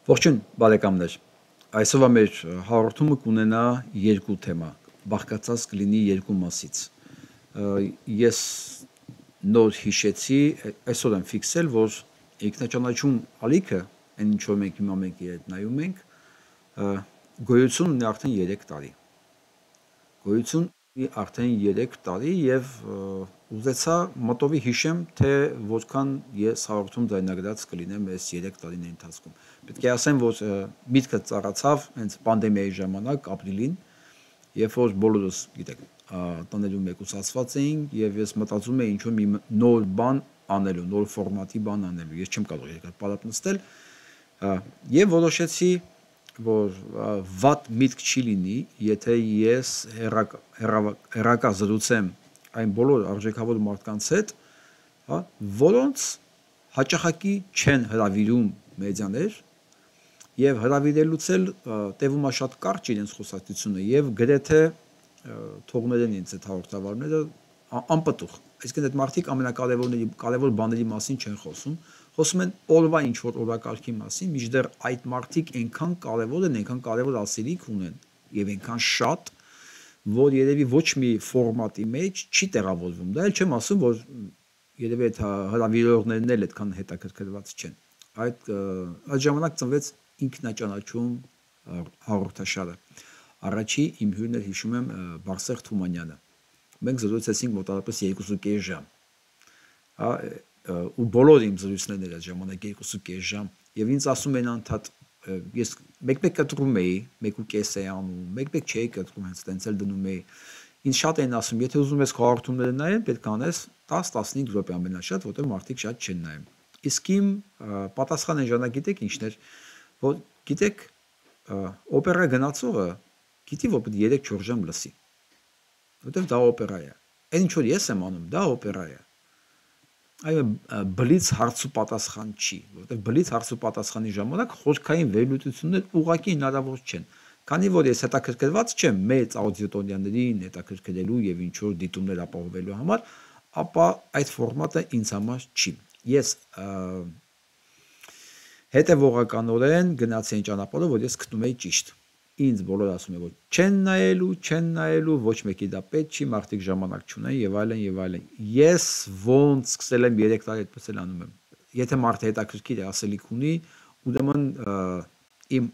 Ողջույն բարեկամներ, այսօրվա մեր հաղորդումը կունենա երկու թեմա, բաղկացած կլինի երկու մասից։ Ես նոր հիշեցի, այսօր եմ ֆիքսել, որ ինքնաճանաչում ալիքը, այն ինչ որ մենք հիմա մենք իրար նայում ենք, գոյություն ունի արդեն 3 տարի։ Գոյություն ունի արդեն 3 տարի եւ ուզեցա մտովի հիշեմ, թե որքան ես հաղորդում ձայնագրած կլինեմ այս 3 տարիների ընթացքում։ Պետք է ասեմ, որ միտքը ծառացավ հենց պանդեմիայի ժամանակ ապրիլին, երբ որ բոլորս, գիտեք, տներում մեկուսացված էինք եւ ես մտածում էի ինչ-որ մի նոր բան անելու, նոր ֆորմատի բան անելու։ Ես չեմ կարող երկրպարատ նստել եւ որոշեցի, որ վատ միտք չի լինի, եթե ես հեռակա զրուցեմ այն բոլոր արժեքավոր մարդկանց հետ, որոնց հաճախակի չեն հրավիրում մեդիաներ եւ հրավիրելուց էլ տևում է շատ կարճ իրենց խոսակցությունը եւ գրեթե թողնել են ինձ այդ հաղորդավարները անպտուղ։ Այսինքն այդ մարդիկ կարևոր բաների մասին չեն խոսում են օրվա ինչ որ օրակարգի մասին, մինչդեռ այդ մարդիկ այնքան կարևոր են, այնքան կարևոր ասելիք ունեն եւ այնքան շատ, որ երևի ոչ մի ֆորմատի մեջ չի տեղավորվում։ Դա էլ չեմ ասում, որ երևի այդ հրավիրողներն էլ այդքան հետաքրքրված չեն։ Այդ ժամանակ ծնվեց ինքնաճանաչում հաղորդաշարը։ Առաջի իմ հյուրն էր, հիշում եմ, Բարսեղ Թումանյանը։ Մենք զրուցեցինք մոտավորապես 2.5 ժամ։ Ու բոլոր իմ զրույցներն էր այդ ժամանակ 2.5 ժամ եւ ինձ ասում են անդադ ես մեկ-մեկ կտրում էի, 1.5 էի անում, մեկ-մեկ չէի կտրում, հենց տենց էլ դնում էի։ Ինձ շատ են ասում, եթե ուզում ես հաղորդումները նայել, պետք է անես 10-15 րոպե ամենաշատ, որտեղ մարդիկ շատ չեն նայում։ Իսկ իմ պատասխանը ժամանակ գիտեք ինչն էր, որ գիտեք օպերա գնացողը գիտի, որ պետք է 3-4 ժամ լսի։ Որտեղ դա օպերա է։ Այն ինչ որ ես եմ անում, դա օպերա է։ Այո, բլից հարց ու պատասխան չի, որտեղ բլից հարց ու պատասխանի ժամանակ խորքային վերլուծություններ ուղղակի հնարավոր չեն։ Քանի որ ես հետաքրքրված չեմ մեծ աուդիտորիաներին հետաքրքրելու եւ ինչ որ դիտումներ ապահովելու համար, ապա այդ ֆորմատը ինձ համար չի։ Ես հետևողականորեն գնացի այն ճանապարհով, որ ես գտնում էի ճիշտ։ Ինձ բոլորը ասում են, որ չեն նայելու, ոչ մեկի դա պետք չի, մարդիկ ժամանակ չունեն եւ այլն եւ այլն։ Ես ոնց սկսել եմ 3 տարի այդպես էլ անում եմ։ Եթե մարդը հետաքրքիր է, ասելիք ունի, ուրեմն իմ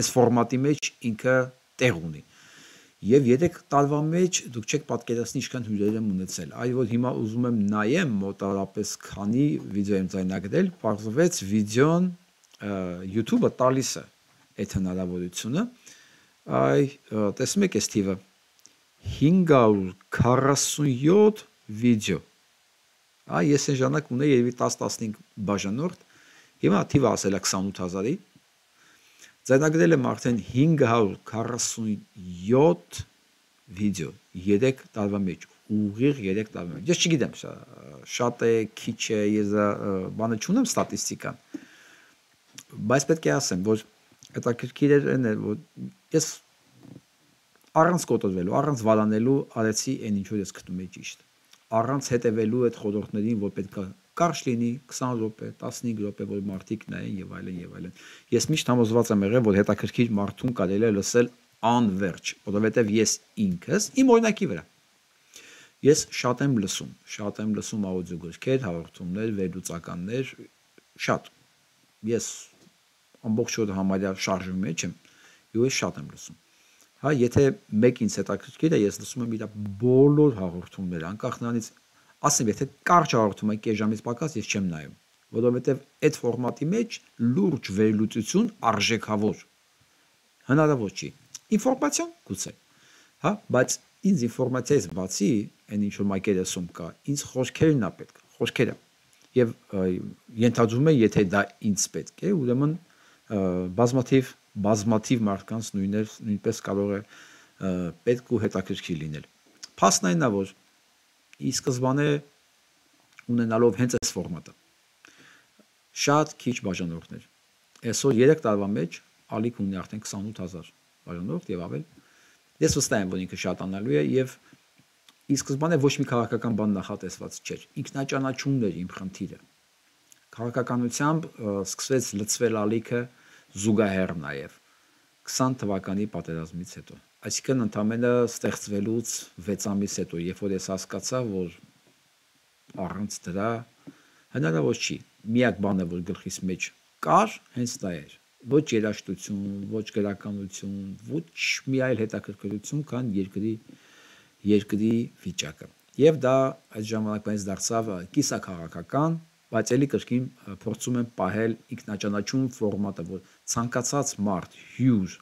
այս ֆորմատի մեջ ինքը տեղ ունի։ Եվ 3 տարվա մեջ դուք չեք պատկերացնի ինչքան հյուրեր եմ ունեցել։ Այ որ հիմա ուզում եմ նայեմ մոտավորապես քանի վիդեո եմ ձայնագրել, պարզվեց վիդեոն YouTube-ը տալիս է այդ հնարավորությունը։ Այ տեսնում եք այս թիվը 547 վիդեո։ Այ ես այն ժամանակ ունեի երևի 10-15 բաժանորդ, հիմա թիվը ասել է 28000-ի։ Ձայնագրել եմ արդեն 547 վիդեո 3 տարվա մեջ, ուղիղ 3 տարվա մեջ։ Ես չգիտեմ, շատ է, քիչ է, ես բանը չունեմ ստատիստիկան։ Բայց պետք է ասեմ, որ հետաքրքիր էր այն էր, որ ես առանց կոտորվելու, առանց վարանելու արեցի այն ինչ որ ես գտնում էի ճիշտ։ Առանց հետևելու այդ խորհուրդներին, որ պետք է կարճ լինի 20 րոպե, 15 րոպե, որ մարդիկ նայեն եւ այլն եւ այլն։ Ես միշտ համոզված եմ եղել, որ հետաքրքիր մարդուն կարելի է լսել անverջ, որովհետեւ ես ինքս իմ օրինակի վրա ես շատ եմ լսում աուդիոգրքեր, հաղորդումներ, վերլուծականներ, շատ։ Ես ամբողջ օրը համարյա շարժում մեջ եմ, եւ ես շատ եմ լսում։ Հա, եթե մեկ ինձ հետաքրքիր է, ես լսում եմ իր բոլոր հաղորդումները, անկախ նրանից, ասեմ, եթե կարճ հաղորդում է կես ժամից պակաս, ես չեմ նայում, որովհետեւ այդ ֆորմատի մեջ լուրջ վերլուծություն արժեքավոր հնարավոր չի։ Ինֆորմացիա գուցե, հա, բայց ինձ ինֆորմացիայից բացի, այն ինչ որ մակերեսում կա, ինձ խոսքերն է պետք, խոսքերը։ Եվ ենթադրում եմ, եթե դա ինձ պետք է, ուրեմն բազմաթիվ մարդկանց նույնպես կարող է պետք ու հետաքրքիր լինել։ Փաստն այն է, որ ի սկզբանե ունենալով հենց այս ֆորմատը շատ քիչ բաժանորդներ։ Այսօր 3 տարվա մեջ ալիք ունի արդեն 28000 բաժանորդ եւ ավել։ Ես վստահ եմ, որ ինքը շատանալու է եւ ի սկզբանե ոչ մի քաղաքական բան նախատեսված չէր։ Ինքնաճանաչումն էր իմ խնդիրը։ Քաղաքականությամբ սկսվեց լծվել ալիքը, զուգահեռ նաև 20 թվականի պատերազմից հետո։ Այսինքն ընդամենը ստեղծվելուց 6 ամիս հետո, երբ որ ես հասկացա, որ առանց դրա հնարավոր չի։ Միակ բանը, որ գլխիս մեջ կար, հենց դա էր։ Ոչ երաժշտություն, ոչ գրականություն, ոչ մի այլ հետաքրքրություն, քան երկրի վիճակը։ Եվ դա այդ ժամանակվանից դարձավ կիսաքաղաքական, բայց էլի կրկին փորձում եմ պահել ինքնաճանաչում ֆորմատը, որ ցանկացած մարդ հյուր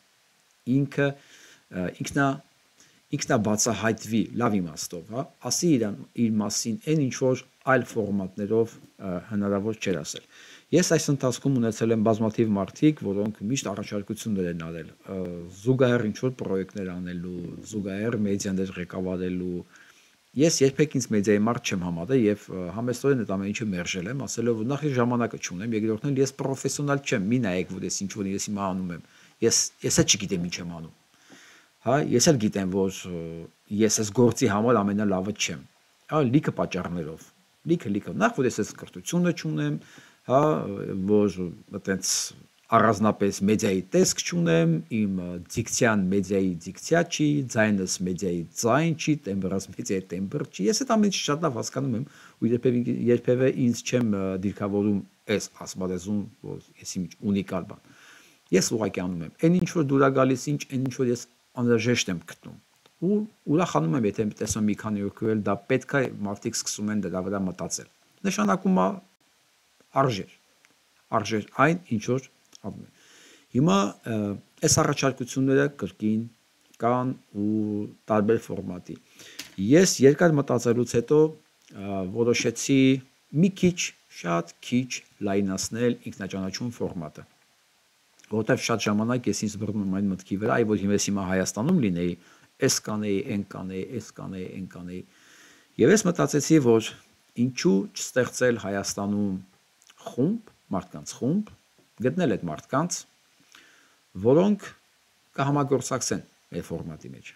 ինքնաբացահայտվի լավ իմաստով, հա, ասի իր մասին այն ինչ որ այլ ֆորմատներով հնարավոր չէր ասել։ Ես այս ընթացքում ունեցել եմ բազմաթիվ մարդիկ, որոնք միշտ առաջարկություններ են արել, զուգահեռ ինչ որ պրոյեկտներ անելու, զուգահեռ մեդիաներ ղեկավարելու։ Ես երբեք ինձ մեդիայի մարդ չեմ համարել եւ համեստորեն այդ ամեն ինչը մերժել եմ, ասելով որ նախ ժամանակը չունեմ, երկրորդն էլ ես պրոֆեսիոնալ չեմ, մի նայեք որ ես ինչ որ ես հիմա անում եմ։ Ես էլ չգիտեմ ինչ եմ անում։ Հա, ես էլ գիտեմ, որ ես այս գործի համար ամենալավը չեմ։ Հա, լիքը պատճառներով։ Լիքը։ Նախ որ ես այս կրթությունը չունեմ, հա, որ այտենց առանձնապես մեդիայի տեսք չունեմ, իմ դիկցիան մեդիայի դիկցիա չի, ձայնս մեդիայի ձայն չի, տեմբրս մեդիայի տեմբր չի։ Ես այդ ամենը շատ լավ հասկանում եմ ու երբևէ ինձ չեմ դիրքավորում այս ասմալեզուն, որ ես իմ ունիկալ բան։ Ես ուղղակի անում եմ։ Այն ինչ որ դուր է գալիս, այն ինչ որ ես անհրաժեշտ եմ գտնում։ Ու ուրախանում եմ, եթե տեսնում մի քանի օր քվել դա պետք է մարդիկ սկսում են դրա վրա մտածել։ Նշանակում է արժեր այն ինչ որ անում են։ Հիմա այս առաջարկությունները կրկին կան ու տարբեր ֆորմատի։ Ես երկար մտածելուց հետո որոշեցի մի քիչ, շատ քիչ լայնացնել ինքնաճանաչում ֆորմատը։ Որտեվ շատ ժամանակ ես ինձ բռնում եմ այն մտքի վրա, այ որ հիմա Հայաստանում լինեի, այս կանեի, այն կանեի, այս կանեի, այն կանեի։ Եվ ես մտածեցի, որ ինչու չստեղծել Հայաստանում խումբ, մարդկանց խումբ, գտնել այդ մարդկանց, որոնք կհամագործակցեն այդ ֆորմատի մեջ։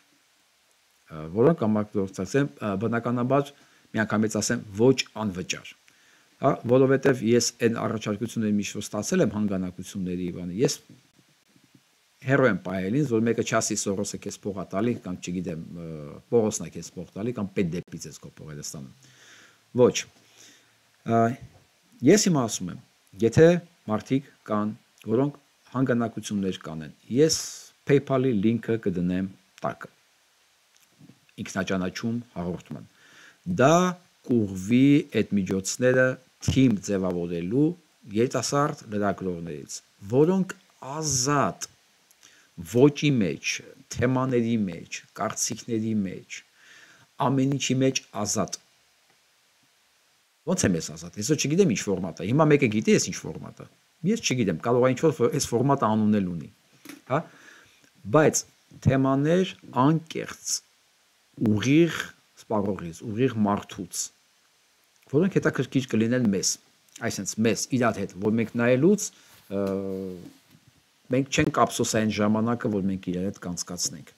Որոնք կհամագործակցեն, բնականաբար միանգամից ասեմ, ոչ անվճար։ Հա, որովհետև ես այն առաջարկությունների միշտ ստացել եմ հանգանակությունների բանը, ես հերո եմ պահել ինձ, որ մեկը չասի Սորոսը քեզ փող է տալի, կամ չգիտեմ, Պողոսն է քեզ փող տալի, կամ պետ դեպից ես քո փողերը ստանում։ Ոչ։ Ես հիմա ասում եմ, եթե մարդիկ կան, որոնք հանգանակություններ կանեն, ես PayPal-ի լինքը կդնեմ տակը։ Ինքնաճանաչում հաղորդման։ Դա կուղվի այդ միջոցները թիմ ձևավորելու երիտասարդ լրագրողներից, որոնք ազատ ոճի մեջ, թեմաների մեջ, կարծիքների մեջ, ամեն ինչի մեջ ազատ։ Ոնց եմ ես ազատ։ Ես չգիտեմ ինչ ֆորմատ է։ Հիմա մեկը գիտի ես ինչ ֆորմատ է։ Ես չգիտեմ, կարող է ինչ որ այս ֆորմատը անունել ունի, հա։ Բայց թեմաներ անկեղծ, ուղիղ սպառողից, ուղիղ մարդուց, որոնք հետաքրքիր կլինեն մեզ, այսինքն մեզ իրար հետ, որ մենք նայելուց մենք չենք ափսոսային ժամանակը, որ մենք իրար հետ կանցկացնենք։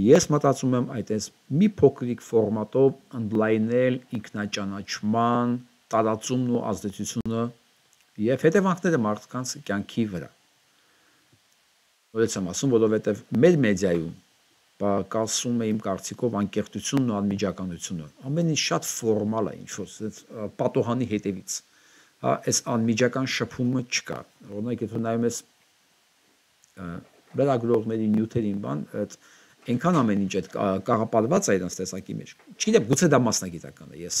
Ես մտածում եմ այդպես մի փոքրիկ ֆորմատով ընդլայնել ինքնաճանաչման տարածումն ու ազդեցությունը եւ հետևանքները մարդկանց կյանքի վրա։ Որից եմ ասում, որովհետեւ մեր մեդիայում կասում է իմ կարծիքով անկեղծությունն ու անմիջականությունը։ Ամեն ինչ շատ ֆորմալ է, ինչ որ պատոհանի հետևից։ Հա, այս անմիջական շփումը չկա։ Օրինակ, եթե նայում ես լրագրողների նյութերին բան, այնքան ամեն ինչ այդ կաղապարված է իրենց տեսակի մեջ։ Չգիտեմ, գուցե դա մասնագիտական է։ Ես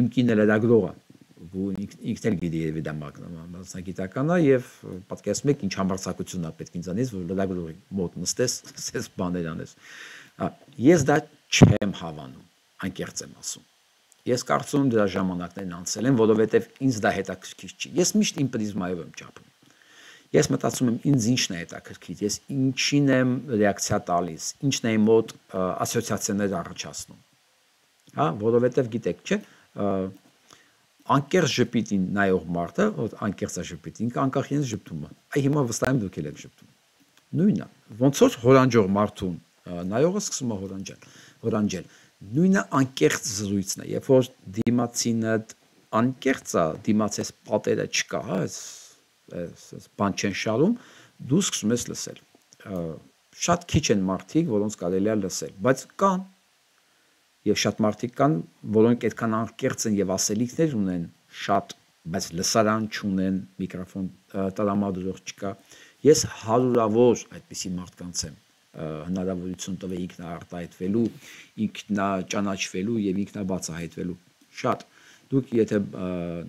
իմ կինը լրագրող է, ու ինքն էլ գիտի երևի դա մասնագիտական է եւ պատկերացնում եք ինչ համարձակություն է պետք ինձանից, որ լրագրողի մոտ նստես, ասես բաներ անես։ Ես դա չեմ հավանում, անկեղծ եմ ասում։ Ես կարծում եմ դրա ժամանակներն անցել են, որովհետեւ ինձ դա հետաքրքիր չի։ Ես միշտ իմ պրիզմայով եմ չափում։ Ես մտածում եմ ինձ ինչն է հետաքրքիր, ես ինչին եմ ռեակցիա տալիս, ինչն է իմ մոտ ասոցիացիաներ առաջացնում։ Հա, որովհետև գիտեք, չէ, անկեղծ ժպիտին նայող մարդը, որ անկեղծ է ժպիտ, ինքը անկախ իրենց ժպտում է։ Այ հիմա վստահ եմ դուք եք ժպտում։ Նույնն է, ոնց որ հորանջող մարդուն նայողը սկսում է հորանջել։ Նույնը անկեղծ զրույցն է, երբ որ դիմացինը անկեղծ է, դիմացես պատերը չկա, հա, բան չեն շարում, դու սկսում ես լսել։ Շատ քիչ են մարդիկ, որոնց կարելի է լսել, բայց կան, եւ շատ մարդիկ կան, որոնք այդքան անկեղծ են եւ ասելիքներ ունեն շատ, բայց լսարան չունեն, միկրոֆոն տրամադրող չկա։ Ես հարյուրավոր այդպիսի մարդկանց եմ հնարավորություն տվել ինքնաարտահայտվելու, ինքնաճանաչվելու եւ ինքնաբացահայտվելու։ Շատ։ Դուք եթե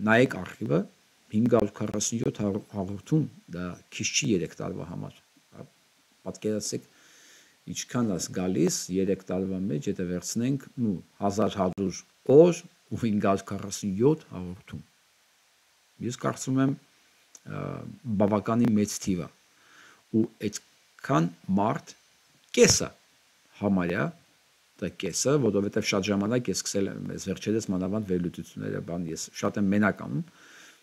նայեք արխիվը 547 հաղորդում, դա քիչ չի 3 տարվա համար։ Պատկերացրեք ինչքան է գալիս 3 տարվա մեջ, եթե վերցնենք 1100 օր ու 547 հաղորդում։ Ես կարծում եմ բավականին մեծ թիվ է ու այդքան մարդ կեսը համարյա դա կեսը, որովհետև շատ ժամանակ ես սկսել եմ այս վերջերս մանավանդ վերլուծությունները բան ես շատ եմ մենակ անում,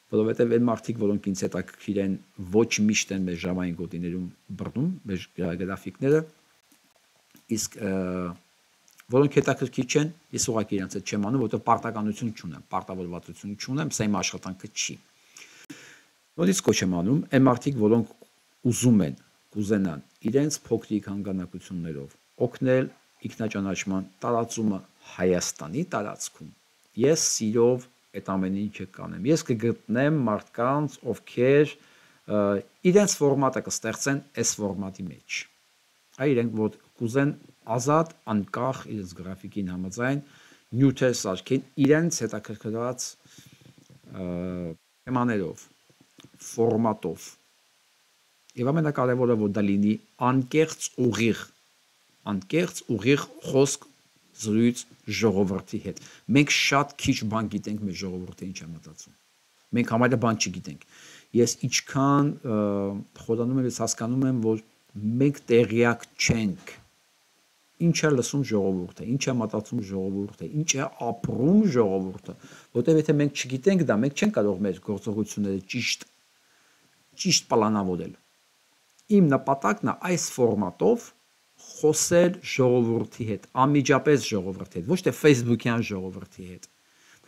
որովհետև այն մարդիկ, որոնք ինձ հետաքրքիր են, ոչ միշտ են մեր ժամային գոտիներում բռնում, մեր գրաֆիկները, իսկ որոնք հետաքրքիր չեն, ես ուղղակի իրենց հետ չեմ անում, որովհետև պարտականություն չունեմ, պարտավորվածություն չունեմ, սա իմ աշխատանքը չի։ Նորից կոչ եմ անում այն մարդիկ, որոնք ուզում են, կուզենան իրենց փոքրիկ հանգանակություններով օգնել ինքնաճանաչման տարածումը Հայաստանի տարածքում։ Ես սիրով այդ ամեն ինչը կանեմ։ Ես կգտնեմ մարդկանց, ովքեր իրենց ֆորմատը կստեղծեն այս ֆորմատի մեջ։ Այ իրենք որ կուզեն ազատ, անկախ իրենց գրաֆիկին համաձայն նյութեր սարքեն իրենց հետաքրքրված թեմաներով, ֆորմատով։ Եվ ամենակարևորը որ դա լինի անկեղծ ուղիղ խոսք զրույց ժողովրդի հետ։ Մենք շատ քիչ բան գիտենք մեր ժողովրդի ինչ է մտածում։ Մենք համարյա բան չգիտենք։ Ես ինչքան խորանում եմ, ես հասկանում եմ, որ մենք տեղյակ չենք ինչ է լսում ժողովուրդը, ինչ է մտածում ժողովուրդը, ինչ է ապրում ժողովուրդը, որտեղ եթե մենք չգիտենք դա, մենք չենք կարող մեր գործողությունները ճիշտ պլանավորել։ Իմ նպատակն է այս ֆորմատով խոսել ժողովրդի հետ, անմիջապես ժողովրդի հետ, ոչ թե Facebook-յան ժողովրդի հետ,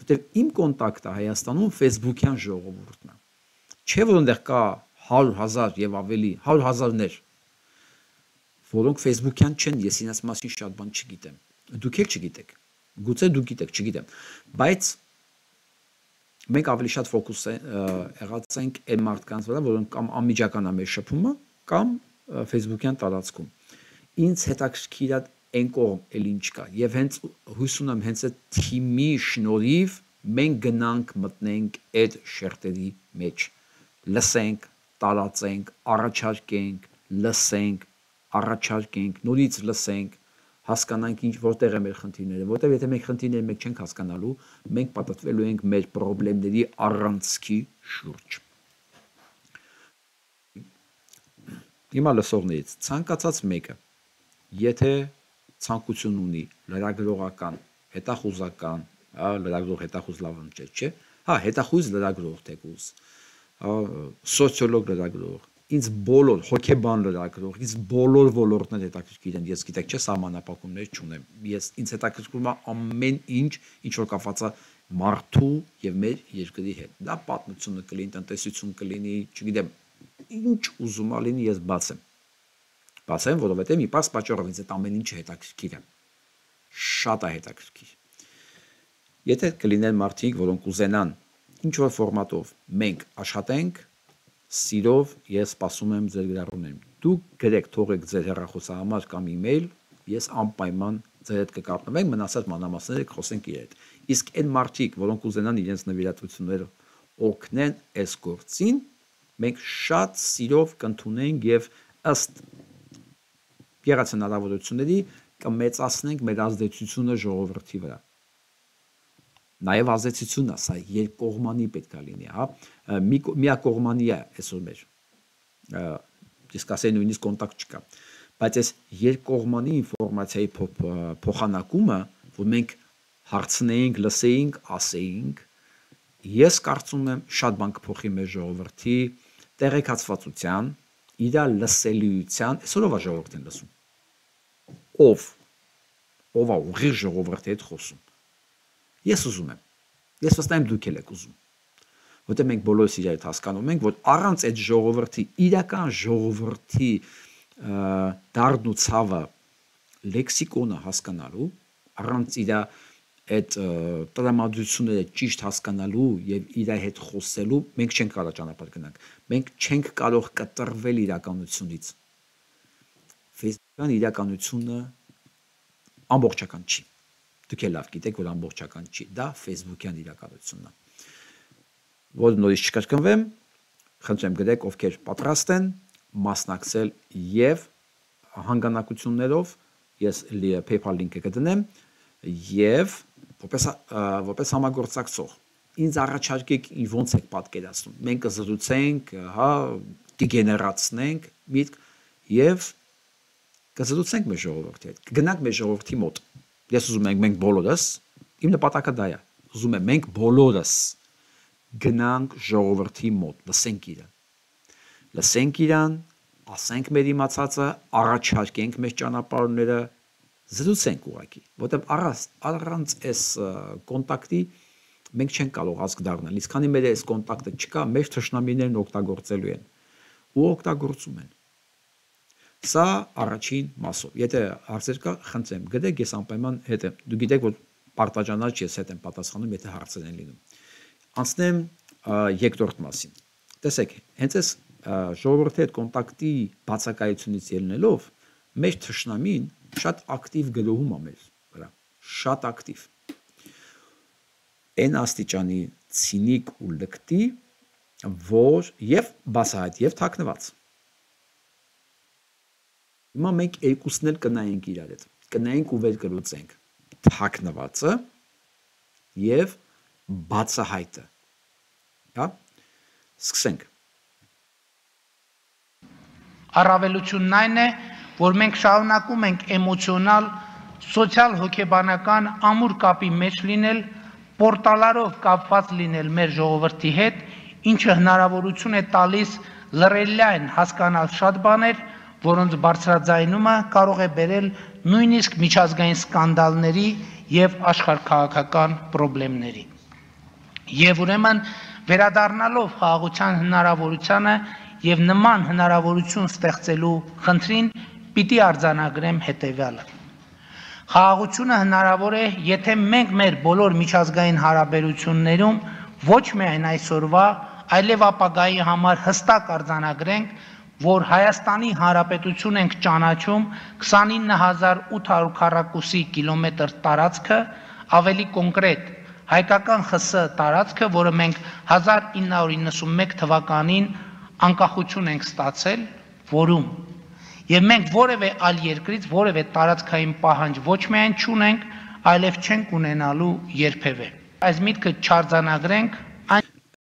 որտեղ իմ կոնտակտը Հայաստանում Facebook-յան ժողովուրդն է։ Չէ՞ որ այնտեղ կա 100,000 եւ ավելի, 100,000-ներ, որոնք Facebook-յան չեն, ես իրենց մասին շատ բան չգիտեմ։ Դուք էլ չգիտեք։ Գուցե դուք գիտեք, չգիտեմ, բայց մենք ավելի շատ ֆոկուս եղած ենք այն մարդկանց վրա, որոնք կամ անմիջական է մեր շփումը, կամ Facebook-յան տարածքում։ Ինձ հետաքրքիր է այն կողմ էլ ինչ կա, եւ հենց հույս ունեմ հենց այդ թիմի շնորհիվ մենք գնանք մտնենք այդ շերտերի մեջ, լսենք, տարածենք, առաջարկենք, լսենք, առաջարկենք, նորից լսենք, հասկանանք ինչ որտեղ է մեր խնդիրները, որտեղ եթե մենք խնդիրները մենք չենք հասկանալու, մենք պատտվելու ենք մեր խնդիրների առանցքի շուրջ։ Հիմա լսողներից ցանկացած մեկը, եթե ցանկություն ունի լրագրողական, հետախուզական, լրագրող հետախուզ լավ ընկեր, չէ՞, հետախուզ լրագրող թեկուզ, սոցիոլոգ լրագրող, ինձ բոլոր հոգեբան լրագրող, ինձ բոլոր ոլորտներ հետաքրքիր են, ես գիտեք, չէ, սահմանափակումներ չունեմ, ինձ հետաքրքրում է ամեն ինչ, ինչ որ կապված է մարդու եւ մեր երկրի հետ։ Դա պատմությունը կլինի, տնտեսություն կլինի, չգիտեմ, ինչ ուզում ա լինի, ես բացեմ, որովհետեւ մի պարզ պատճառով ինձ այդ ամեն ինչը հետաքրքիր է, շատ է հետաքրքիր։ Եթե կլինեն մարդիկ, որոնք ուզենան ինչ որ ֆորմատով մենք աշխատենք, սիրով ես սպասում եմ ձեր գրառումներին։ Դուք գրեք, թողեք ձեր հեռախոսահամար կամ email, ես անպայման ձեր հետ կկապնվենք, մնացած մանրամասները կխոսենք իրար հետ։ Իսկ այն մարդիկ, որոնք ուզենան իրենց նվիրատվությունները օգնեն այս գործին, մենք շատ սիրով կընդունենք եւ ըստ եղած հնարավորությունների կմեծացնենք մեր ազդեցությունը ժողովրդի վրա։ Նաև ազդեցությունն է, սա երկկողմանի պետք է լինի, հա, միակողմանի է այսօր մեր, իսկ ասել նույնիսկ կոնտակտ չկա, բայց այս երկկողմանի ինֆորմացիայի փոխանակումը, որ մենք հարցնեինք, լսեինք, ասեինք, ես կարծում եմ շատ բան կփոխի մեր ժողովրդի տեղեկացվածության, իր լսելիության, այսօր ով է ժողովրդին լսում, ով է ուղիղ ժողովրդի հետ խոսում։ Ես ուզում եմ, ես վստահ եմ դուք էլ եք ուզում, որտեղ մենք բոլորս իրար հետ հասկանում ենք, որ առանց այդ ժողովրդի, իրական ժողովրդի դառն ու ցավը լեքսիկոնը հասկանալու, առանց իր այդ տրամադրությունները ճիշտ հասկանալու եւ իր հետ խոսելու, մենք չենք կարող ճանապարհ գնանք։ Մենք չենք կարող կտրվել իրականությունից։ Facebook-ն իրականությունը ամբողջական չի։ Դուք էլ լավ գիտեք, որ ամբողջական չի։ Դա Facebook-յան իրականությունն է։ Որ նորից չկրկնվեմ, խնդրեմ գրեք, ովքեր պատրաստ են մասնակցել եւ հանգանակություններով, ես PayPal link-ը կդնեմ եւ որպես համագործակցող ինձ առաջարկեք ոնց եք պատկերացնում։ Մենք կզրուցենք, հա, կգեներացնենք միտք եւ կզրուցենք մեր ժողովրդի հետ։ Կգնանք մեր ժողովրդի մոտ։ Ես ուզում եմ մենք բոլորս, իմ նպատակը դա է։ Ուզում եմ մենք բոլորս գնանք ժողովրդի մոտ, լսենք իրան։ Լսենք իրան, ասենք մեր իմացածը, առաջարկենք մեր ճանապարհները, զրուցենք ուղղակի, որտեղ առանց այս կոնտակտի մենք չենք կարող ազգ դառնալ։ Իսկ քանի մեր այս կոնտակտը չկա, մեր թշնամիներն օգտագործելու են ու օգտագործում են։ Սա առաջին մասով։ Եթե հարցեր կա, խնդրեմ, գրեք, ես անպայման հետ եմ։ Դու գիտեք, որ պարտաճանաչ ես հետ եմ պատասխանում, եթե հարցեր են լինում։ Անցնեմ երկրորդ մասին։ Տեսեք, հենց այս ժողովրդի հետ կոնտակտի բացակայությունից ելնելով, մեր թշնամին շատ ակտիվ գրոհում է մեր վրա, շատ ակտիվ։ Այն աստիճանի ցինիկ ու լկտի, որ եւ բացահայտ եւ թաքնված։ Հիմա մենք երկուսն էլ կնայենք իրար հետ, կնայենք ու վեր կլուծենք թաքնվածը եւ բացահայտը։ Հա? Սկսենք։ Առավելությունն այն է, որ մենք շարունակում ենք էմոցիոնալ, սոցիալ հոգեբանական ամուր կապի մեջ լինել, պորտալարով կապված լինել մեր ժողովրդի հետ, ինչը հնարավորություն է տալիս լրելյայն հասկանալ շատ բաներ, որոնց բարձրաձայնումը կարող է բերել նույնիսկ միջազգային սկանդալների եւ աշխարհքաղաքական խնդիրների։ Եվ ուրեմն վերադառնալով խաղաղության հնարավորությանը եւ նման հնարավորություն ստեղծելու խնդրին պիտի արձանագրեմ հետեւյալը։ Խաղաղությունը հնարավոր է, եթե մենք մեր բոլոր միջազգային հարաբերություններում ոչ միայն այսօրվա, այլև ապագայի համար հստակ արձանագրենք, որ Հայաստանի Հանրապետություն ենք ճանաչում 29800 քառակուսի կիլոմետր տարածքը, ավելի կոնկրետ հայկական ԽՍՀ տարածքը, որը մենք 1991 թվականին անկախություն ենք ստացել, որում եւ մենք որևէ այլ երկրից որևէ տարածքային պահանջ ոչ միայն չունենք, այլև չենք ունենալու երբևէ։ Այս միտքը չարձանագրենք,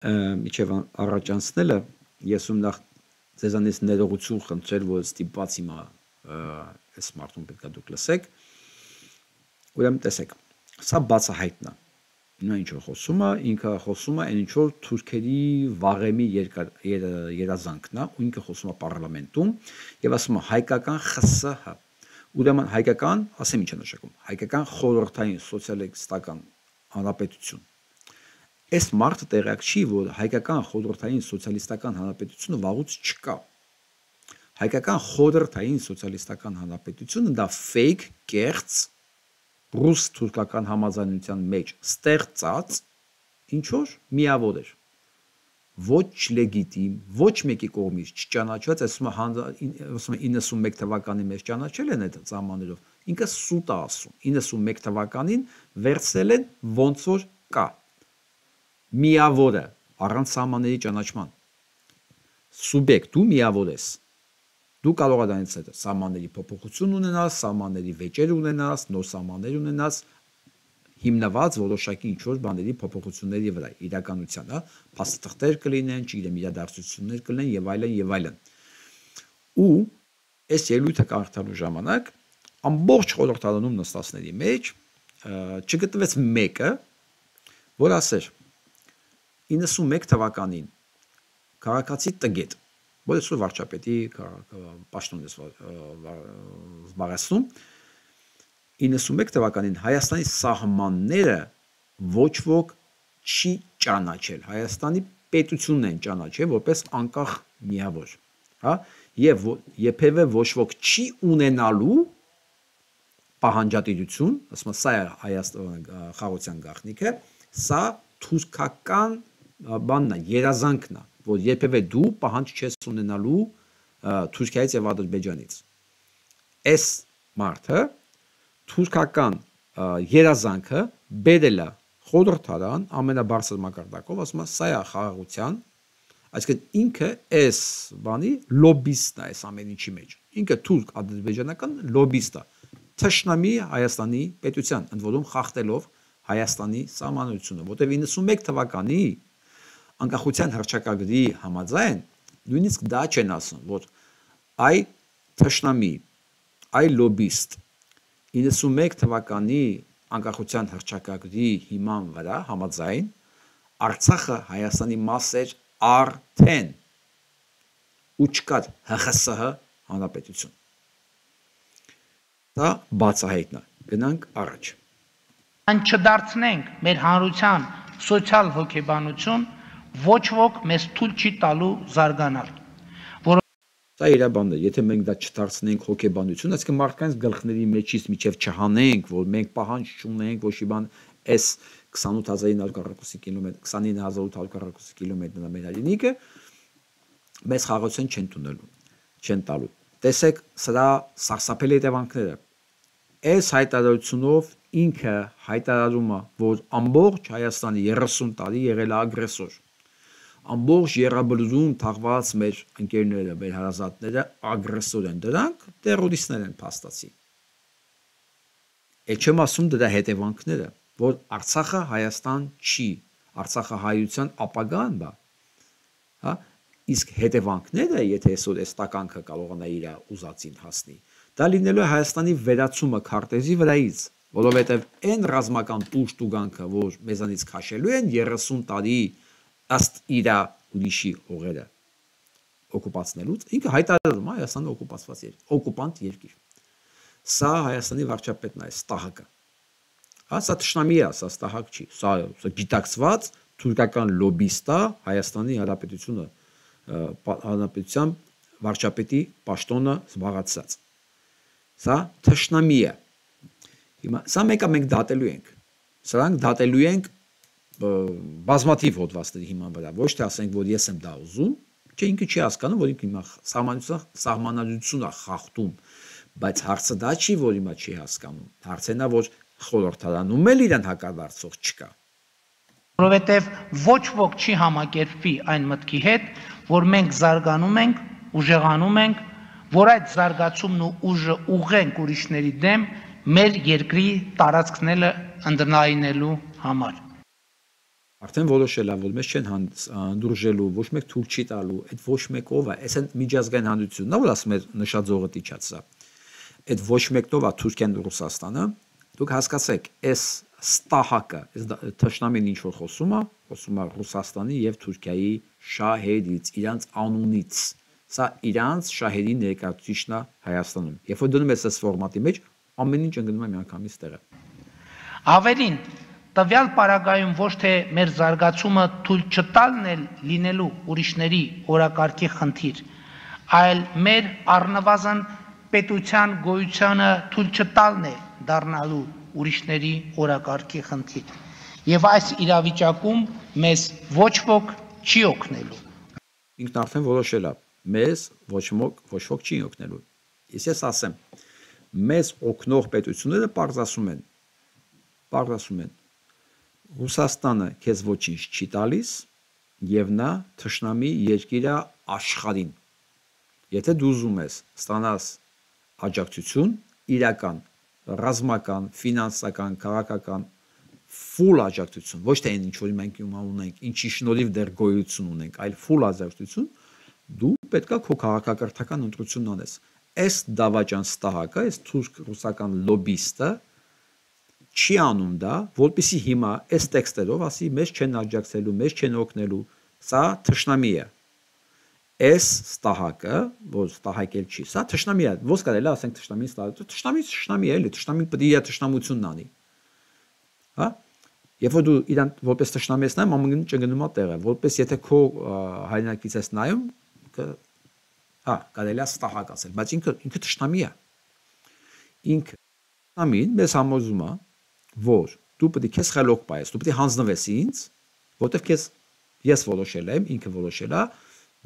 Միջև առաջանցնելը ես ում նախ ձեզանից ներողություն խնդրել, որ ստիպված հիմա այս մարդուն պետք է դուք լսեք։ Ուրեմն տեսեք, սա բացահայտն է։ Նա ինչ որ խոսում է, ինքը խոսում է այն ինչ որ թուրքերի վաղեմի երազանքն է, ու ինքը խոսում է պարլամենտում եւ ասում է հայկական ԽՍՀ։ Ուրեմն հայկական, ասեմ ինչ է նշանակում, հայկական խորհրդային սոցիալիստական հանրապետություն։ Այս մարդը տեղյակ չի, որ հայկական խորհրդային սոցիալիստական հանրապետությունը վաղուց չկա։ Հայկական խորհրդային սոցիալիստական հանրապետությունը դա fake, կեղծ ռուս-թուրքական համաձայնության մեջ ստեղծած ինչ որ միավոր էր։ Ոչ լեգիտիմ, ոչ մեկի կողմից չճանաչված, ասում է 91 թվականին մեջ ճանաչել են այդ սահմաններով։ Ինքը սուտ է ասում։ 91 թվականին վերցրել են ոնց որ կա։ Միավորը առանց սահմանների ճանաչման։ Սուբյեկտ դու միավոր ես։ Դու կարող ես դրանից հետո սահմանների փոփոխություն ունենաս, սահմանների վեճեր ունենաս, նոր սահմաններ ունենաս, հիմնված որոշակի ինչ-որ բաների փոփոխությունների վրա, իրականության, հա, փաստաթղթեր կլինեն, չգիտեմ, իրադարձություններ կլինեն եւ այլն եւ այլն։ Ու այս ելույթը կարդալու ժամանակ ամբողջ խորհրդարանում նստածների մեջ չգտնվեց մեկը, որ ասեր 91 թվականին քաղաքացի տգետ, որ այսօր վարչապետի պաշտոն է զբաղեցնում, 91 թվականին Հայաստանի սահմանները ոչ ոք չի ճանաչել, Հայաստանի պետությունն են ճանաչել որպես անկախ միավոր, հա, եւ երբևէ ոչ ոք չի ունենալու պահանջատիրություն, ասում սա է Հայաստանի խաղաղության գաղտնիքը, սա թուրքական բանն է, երազանքն է, որ երբևէ դու պահանջ չես ունենալու Թուրքիայից եւ Ադրբեջանից։ Այս մարդը թուրքական երազանքը բերել է խորհրդարան ամենաբարձր մակարդակով, ասում է սա է խաղաղության, այսինքն ինքը այս բանի լոբիստ է այս ամեն ինչի մեջ։ Ինքը թուրք ադրբեջանական լոբիստ է, թշնամի Հայաստանի պետության, ընդ որում խախտելով Հայաստանի սահմանությունը, որտեղ 91 թվականի անկախության հռչակագրի համաձայն նույնիսկ դա չեն ասում, որ այ թշնամի, այ լոբիստ 91 թվականի անկախության հռչակագրի հիման վրա համաձայն Արցախը Հայաստանի մաս էր արդեն ու չկար ՀԽՍՀ հանրապետություն։ Դա բացահայտն է։ Գնանք առաջ։ Այն չդարձնենք մեր հանրության սոցիալ հոգեբանություն, ոչ ոք մեզ թույլ չի տալու զարգանալ։ Դա իր բանն է, եթե մենք դա չդարձնենք հոգեբանություն, այսինքն մարդկանց գլխների մեջից միջև չհանենք, որ մենք պահանջ չունենք, ոչ մի բան, այս 28942 կիլոմետր, 29842 կիլոմետրն է մեր հայրենիքը, մեզ խաղաղություն չեն տալու։ Տեսեք սրա սարսափելի հետևանքները։ Այս հայտարարությունով ինքը հայտարարում է, որ ամբողջ Հայաստանի 30 տարի եղել է ագրեսոր։ Ամբողջ Եռաբլուրում թաղված մեր ընկերները, մեր հարազատները ագրեսոր են, դրանք տերորիստներ են փաստացի։ Այդ չեմ ասում դրա հետևանքները, որ Արցախը Հայաստան չի, Արցախը հայության ապագան բա, հա, իսկ հետևանքները, եթե այսօր այս տականքը կարողանա իր ուզածին հասնի, դա լինելու է Հայաստանի վերացումը քարտեզի վրայից, որովհետև այն ռազմական տուժտուգանքը, որ մեզանից քաշելու են 30 տարի ըստ իր ուրիշի հողերը օկուպացնելուց, ինքը հայտարարում է Հայաստանը օկուպանտ երկիր։ Սա Հայաստանի վարչապետն է, Ստահակը։ Հա, սա թշնամի է, սա Ստահակ չի, սա գիտակցված թուրքական լոբիստ է Հայաստանի Հանրապետության վարչապետի պաշտոնը զբաղեցրած։ Սա թշնամի է։ Հիմա սա մենք դատելու ենք։ Սրանք դատելու ենք բազմաթիվ հոդվածների հիման վրա, ոչ թե ասենք, որ ես եմ դա ուզում, չէ, ինքը չի հասկանում, որ ինքը հիմա սահմանադրություն է խախտում, բայց հարցը դա չի, որ հիմա չի հասկանում։ Հարցն է, որ խորհրդարանում էլ իրեն հակադարձող չկա։ Որովհետև ոչ ոք չի համակերպվի այն մտքի հետ, որ մենք զարգանում ենք, ուժեղանում ենք, որ այդ զարգացումն ու ուժը ուղղենք ուրիշների դեմ մեր երկրի տարածքները ընդնայնելու համար։ Արդեն որոշել է, որ մեզ չեն հանդուրժելու, ոչ մեկ թույլ չի տալու, այդ ոչ մեկով է, այս միջազգային հանրությունն է, որ ասում է նշաձողը տիչացա։ Այդ ոչ մեկով է Թուրքիան ու Ռուսաստանը, դուք հասկացեք, այս Ստահակը, այս թշնամին ինչ որ խոսում է Ռուսաստանի եւ Թուրքիայի շահերից, իրանց անունից։ Սա իրանց շահերի ներկայացուցիչն է Հայաստանում։ Երբ որ դնում ես այս ֆորմատի մեջ, ամեն ինչ ընկնում է միանգամից տեղը։ Ավելին, տվյալ պարագայում ոչ թե մեր զարգացումը թույլ չտալն է լինելու ուրիշների օրակարգի խնդիր, այլ մեր առնվազն պետության գոյությանը թույլ չտալն է դառնալու ուրիշների օրակարգի խնդիր։ Եվ այս իրավիճակում մեզ ոչ ոք չի օգնելու։ Ինքն արդեն որոշել է, մեզ ոչ ոք չի օգնելու։ Ես ասեմ, մեզ օգնող պետությունները պարզ ասում են, Ռուսաստանը քեզ ոչինչ չի տալիս եւ նա թշնամի երկիր է աշխարհին։ Եթե դու ուզում ես ստանաս աջակցություն, իրական, ռազմական, ֆինանսական, քաղաքական full աջակցություն, ոչ թե այն ինչ որ մենք ունենք, ինչի շնորհիվ դեռ գոյություն ունենք, այլ full աջակցություն, դու պետքա քո քաղաքակրթական ընտրությունն անես։ Այս դավաճան Ստահակը, այս թուրք-ռուսական լոբիստը չի անում դա, որպեսզի հիմա այս տեքստերով ասի մեզ չեն աջակցելու, մեզ չեն օգնելու, սա թշնամի է։ Այս Ստահակը, որ Ստահակել չի, սա թշնամի է, ո՞ս կարելի է ասենք թշնամին Ստահակ, թշնամի է, էլի, թշնամին պետք է իր թշնամությունն անի։ Հա? Երբ որ դու իրան որպես թշնամի ես նայում, ամեն ինչ գնում է տեղը, որպես եթե քո հայրենակից ես նայում, կարելի է ստահակ ասել, բայց ինքը թշնամի է։ Ինքը թշնամին մեզ համոզում է, որ դու պետք է քեզ խելոք պայես, դու պետք է հանձնվես ինձ, որտեղ ես որոշել եմ, ինքը որոշել է,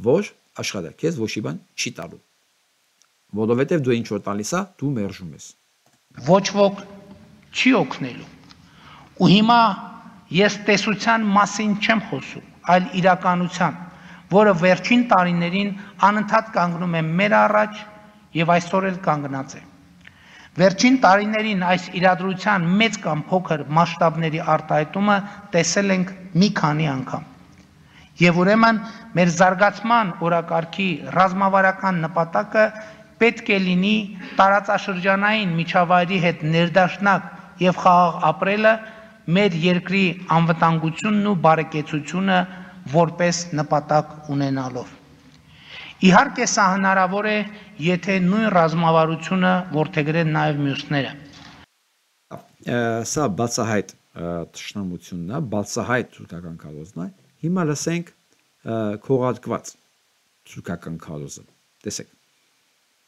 որ աշխարհը քեզ ոչ մի բան չի տալու։ Որովհետև դու ինչ որ տալիս է, դու մերժում ես։ Ոչ ոք չի օգնելու։ Ու հիմա ես տեսության մասին չեմ խոսում, այլ իրականության, որը վերջին տարիներին անընդհատ կանգնում է մեր առաջ եւ այսօր էլ կանգնած է։ Վերջին տարիներին այս իրադրության մեծ կամ փոքր մասշտաբների արտահայտումը տեսել ենք մի քանի անգամ։ Եվ ուրեմն մեր զարգացման օրակարգի ռազմավարական նպատակը պետք է լինի տարածաշրջանային միջավայրի հետ ներդաշնակ եւ խաղաղ ապրելը, մեր երկրի անվտանգությունն ու բարեկեցությունը որպես նպատակ ունենալով։ Իհարկե սա հնարավոր է, եթե նույն ռազմավարությունը որդեգրեն նաեւ մյուսները։ Սա բացահայտ թշնամությունն է, բացահայտ թուրքական քարոզն է։ Հիմա լսենք քողարկված թուրքական քարոզը։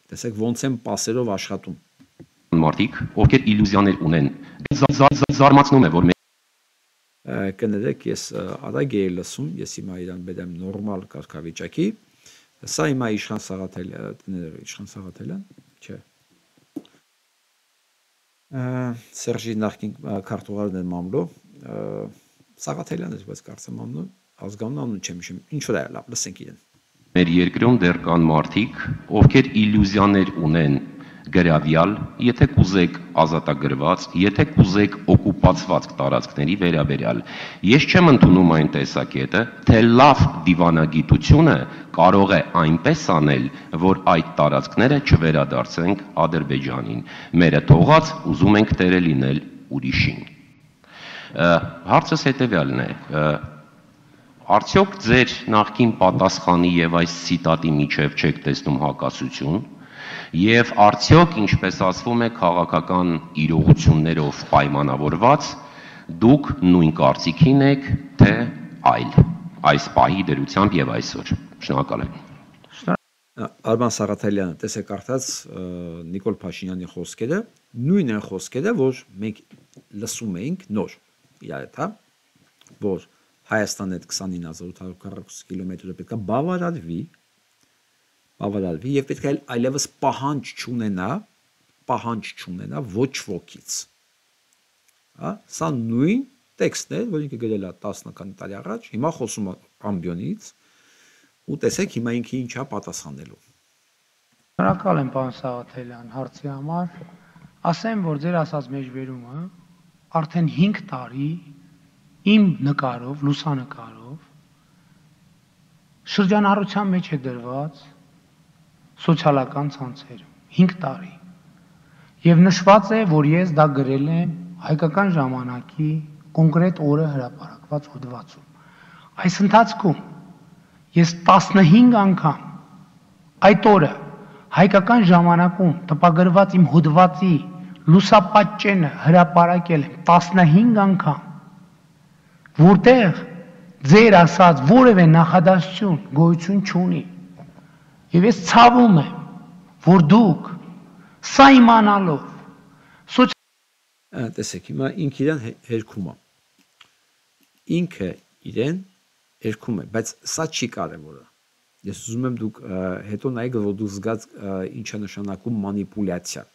Տեսեք ոնց են պասերով աշխատում։ Մարդիկ, ովքեր իլյուզիաներ ունեն, զարմացնում է, որ կներեք, ես արագ էի լսում, ես հիմա իրան բերեմ նորմալ կարգավիճակի։ Սա հիմա Իշխան Սաղաթելյան, չէ։ Սերժի նախկին քարտուղարն էր մամլո, Սաղաթելյան էր, բայց կարծեմ մամլո, ազգանուն անուն չեմ հիշում, ինչ որ է, լավ, լսենք իրեն։ Մեր երկրում դեռ կան մարդիկ, ովքեր իլյուզիաներ ունեն գրավյալ, եթե կուզեք ազատագրված, եթե կուզեք օկուպացված տարածքների վերաբերյալ։ Ես չեմ ընդունում այն տեսակետը, թե լավ դիվանագիտությունը կարող է այնպես անել, որ այդ տարածքները չվերադարձենք Ադրբեջանին։ Մերը թողած ուզում ենք տերը լինել ուրիշին։ Հարցս հետևյալն է. արդյոք ձեր նախկին պատասխանի եւ այս ցիտատի միջև չեք տեսնում հակասություն, եւ արդյոք, ինչպես ասվում է, քաղաքական իրողություններով պայմանավորված, դուք նույն կարծիքին եք, թե այլ, այս պահի դրությամբ եւ այսօր։ Շնորհակալ եմ։ Արման Սաղաթելյանը, տեսեք արդած Նիկոլ Փաշինյանի խոսքերը, նույն են խոսքերը, որ մենք լսում էինք նոր իրար հետ, որ Հայաստանը այդ 29840 կիլոմետրը պետք է բավարարվի եւ պետք է այլևս պահանջ չունենա ոչ ոքից։ Սա նույն տեքստն է, որ ինքը գրել է 10 տարի առաջ, հիմա խոսում է ամբիոնից ու տեսեք հիմա ինքը ինչ է պատասխանելու։ Շնորհակալ եմ, պարոն Սաղաթելյան, հարցի համար։ Ասեմ, որ ձեր ասած մեջբերումը արդեն 5 տարի իմ նկարով, լուսանկարով շրջանառության մեջ է դրված սոցիալական ցանցերում 5 տարի եւ նշված է, որ ես դա գրել եմ հայկական ժամանակի կոնկրետ օրը հրապարակված հոդվածում։ Այս ընթացքում ես 15 անգամ այդ օրը հայկական ժամանակում տպագրված իմ հոդվածի լուսապատճենը հրապարակել եմ 15 անգամ, որտեղ ձեր ասած որևէ նախադասություն գոյություն չունի։ Եվ ես ցավում եմ, որ դուք սա իմանալով տեսեք, հիմա ինքը իրեն հերքում է։ Ինքը իրեն հերքում է, բայց սա չի կարևորը։ Ես ուզում եմ դուք հետո նայեք, որ դուք զգաց ինչ է նշանակում մանիպուլյացիա։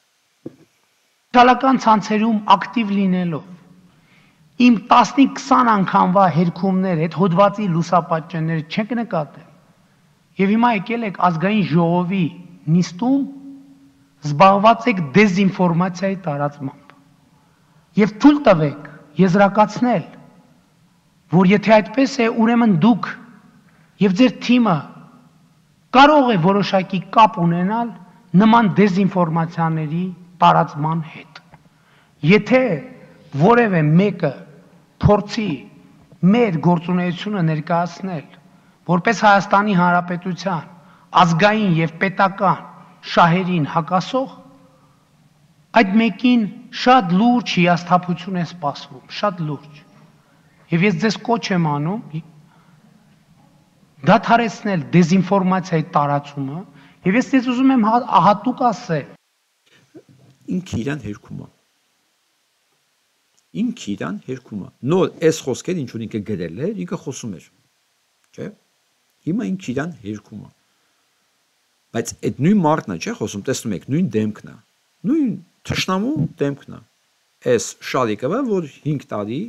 Սոցիալական ցանցերում ակտիվ լինելով իմ 15-20 անգամվա հերքումներ, այդ հոդվածի լուսապատճենները չեք նկատել։ Եվ հիմա եկել եք ազգային ժողովի նիստում զբաղված եք դեզինֆորմացիայի տարածմամբ։ Եվ թույլ տվեք եզրակացնել, որ եթե այդպես է, ուրեմն դուք եւ ձեր թիմը կարող է որոշակի կապ ունենալ նման դեզինֆորմացիաների տարածման հետ։ Եթե որևէ մեկը փորձի մեր գործունեությունը ներկայացնել որպես Հայաստանի Հանրապետության ազգային եւ պետական շահերին հակասող, այդ մեկին շատ լուրջ հիասթափություն է սպասվում, շատ լուրջ։ Եվ ես ձեզ կոչ եմ անում դադարեցնել դեզինֆորմացիայի տարածումը, եւ ես ձեզ ուզում եմ հատուկ ասել։ Ինքը իրան հերքում է։ Ինքը իրան հերքում է։ Նոր այս խոսքեր ինչ որ ինքը գրել էր, ինքը խոսում էր։ Չէ՞։ Հիմա ինքը իրան հերքում է։ Բայց այդ նույն մարդն է, չէ՞, խոսում, տեսնում եք, նույն դեմքն է։ Նույն թշնամու դեմքն է։ Այս շարիկը, որ 5 տարի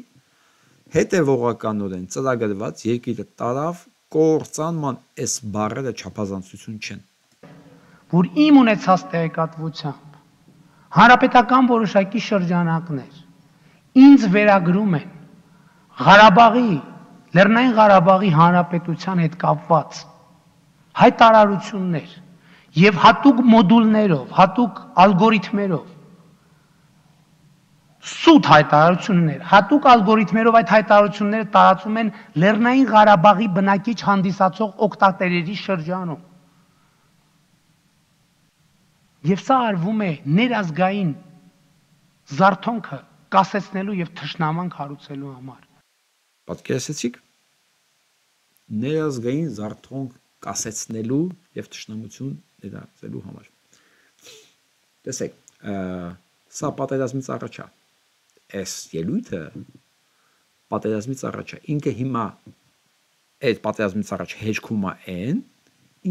հետևողականորեն ծրագրված երկիրը տարավ կործանման այս բառերը չափազանցություն չեն։ Որ իմ ունեցած տեղեկատվությամբ հանրապետական որոշակի շրջանակներ ինձ վերագրում են Ղարաբաղի, Լեռնային Ղարաբաղի հանրապետության հետ կապված հայտարարություններ եւ հատուկ մոդուլներով, հատուկ ալգորիթմերով սուտ հայտարարություններ, հատուկ ալգորիթմերով այդ հայտարարությունները տարածում են Լեռնային Ղարաբաղի բնակիչ հանդիսացող օգտատերերի շրջանում։ Եվ սա արվում է ներազգային զարթոնքը կասեցնելու եւ թշնամանք հարուցելու համար։ Պատկերացրեցիք ներազգային զարթոնք կասեցնելու եւ թշնամություն ներածելու համար։ Տեսեք, սա պատերազմից առաջ է։ Այս ելույթը պատերազմից առաջ է։ Ինքը հիմա այդ պատերազմից առաջ հեջքում է այն,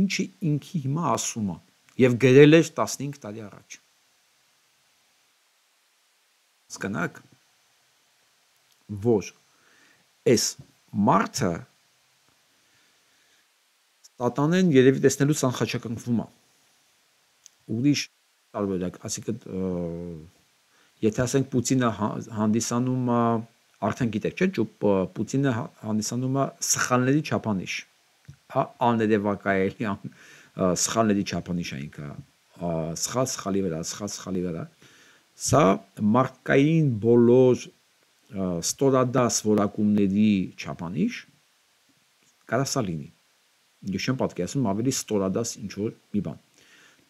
ինչի ինքը հիմա ասում է եւ գրել էր 15 տարի առաջ։ Հասկանաք, որ այս մարդը Տատանեն երևի տեսնելու ցանխաչակնքվում է։ Ուրիշ տարբերակ, այսինքն եթե ասենք Պուտինը հանդիսանում է, արդեն գիտեք, չէ՞, Պուտինը հանդիսանում է սխալների չափանիշ։ Հա, աներևակայելի սխալների չափանիշ է ինքը։ Սխալ սխալի վրա, սխալ սխալի վրա։ Սա մարդկային բոլոր ստորադաս որակումների չափանիշ կարա սա լինի։ Ես չեմ պատկերացնում ավելի ստորադաս ինչ որ մի բան։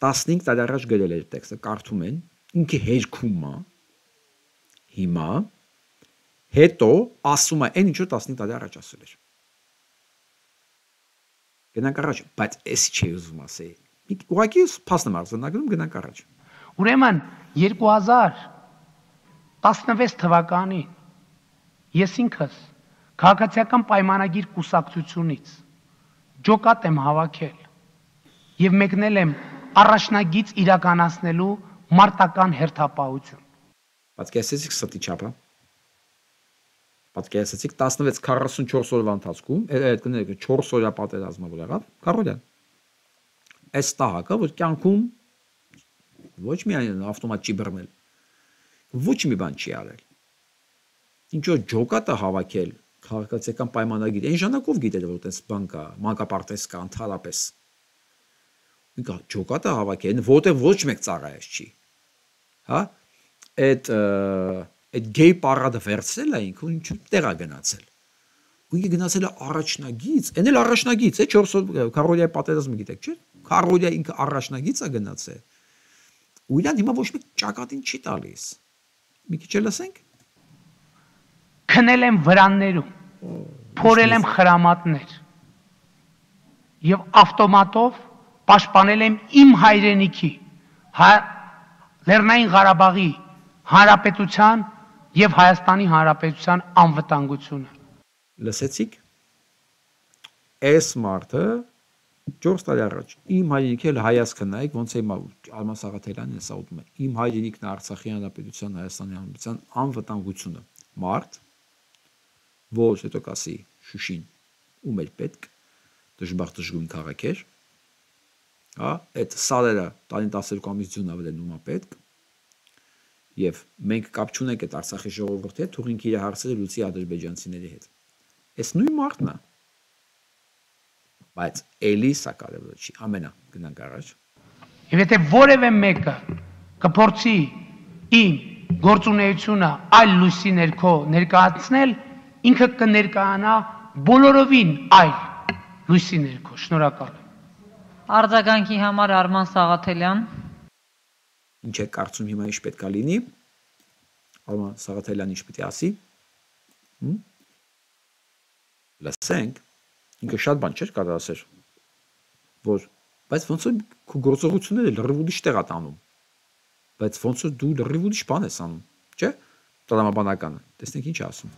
15 տարի առաջ գրել էր տեքստը, կարդում են, ինքը հերքում է, հիմա, հետո ասում է այն ինչ որ 15 տարի առաջ ասել էր։ Գնանք առաջ, բայց էս չի ուզում ասել։ Ուղղակի փաստն եմ արձանագրում, գնանք առաջ։ Ուրեմն 2016 թվականին ես ինքս քաղաքացիական պայմանագիր կուսակցությունից ջոկատ եմ հավաքել եւ մեկնել եմ առաջնագիծ իրականացնելու մարտական հերթապահություն։ Պատկերացրեցիք ստի չափը։ Պատկերացրեցիք 16-44 օրվա ընթացքում, այդ կներեք 4 օրյա պատերազմը որ եղավ, Կարոլյան։ Այս տահակը որ կյանքում ոչ միայն ավտոմատ չի բռնել, ոչ մի բան չի արել։ Ինչ որ ջոկատը հավաքել քաղաքացիական պայմանագիր, այն ժամանակով գիտեր որ այդպես բան կա, մանկապարտեզ կա ընդհանրապես։ Ինքը ջոկատը հավաքել, որտեղ ոչ մեկ ծառայած չի։ Հա? Այդ գեյ պարադը վերցնել է ինքը ինչ տեղ է գնացել։ Ու ինքը գնացել է առաջնագիծ, այն էլ առաջնագիծ է 4 Կարոլիայի պատերազմը գիտեք, չէ՞։ Կարոլիա ինքը առաջնագիծ է գնացել։ Ու իրան հիմա ոչ մեկ ճակատին չի տալիս։ Մի քիչ լսենք։ Քնել եմ վրաններում, փորել եմ խրամատներ եւ ավտոմատով պաշտպանել եմ իմ հայրենիքի Լեռնային Ղարաբաղի Հանրապետության եւ Հայաստանի Հանրապետության անվտանգությունը։ Լսեցիք։ Այս մարդը 4 տարի առաջ իմ հայրենիքը հայացքը նայեք ոնց է Արման Սաղաթելյանն է ասում է իմ հայրենիքն Արցախի Հանրապետության Հայաստանի Հանրապետության անվտանգությունը մարդ որ հետո կասի Շուշին ում էր պետք դժբախտ դժգույն քաղաք էր հա այդ սարերը 12 ամիս ձյուն ավելնում է պետք եւ մենք կապ չունենք այդ Արցախի ժողովրդի հետ թողինք իր հարցերը լուծի ադրբեջանցիների հետ այս նույն մարդն է բայց էլի սա կարևոր չի ամենա գնանք առաջ եւ եթե որևէ մեկը կփորձի իմ գործունեությունը այլ լույսի ներքո ներկայացնել ինքը կներկայանա բոլորովին այլ լույսի ներքո շնորհակալ եմ արձագանքի համար Արման Սաղաթելյան ինչ է կարծում հիմա ինչ պետք է լինի Արման Սաղաթելյան ինչ պետք է ասի լսենք, ինքը շատ բան չէր կարող ասել, որ բայց ոնց որ քո գործողությունները լրիվ ուրիշ տեղ է տանում, բայց ոնց որ դու լրիվ ուրիշ բան ես անում, չէ՞, տրամաբանականը, տեսնենք ինչ ասում։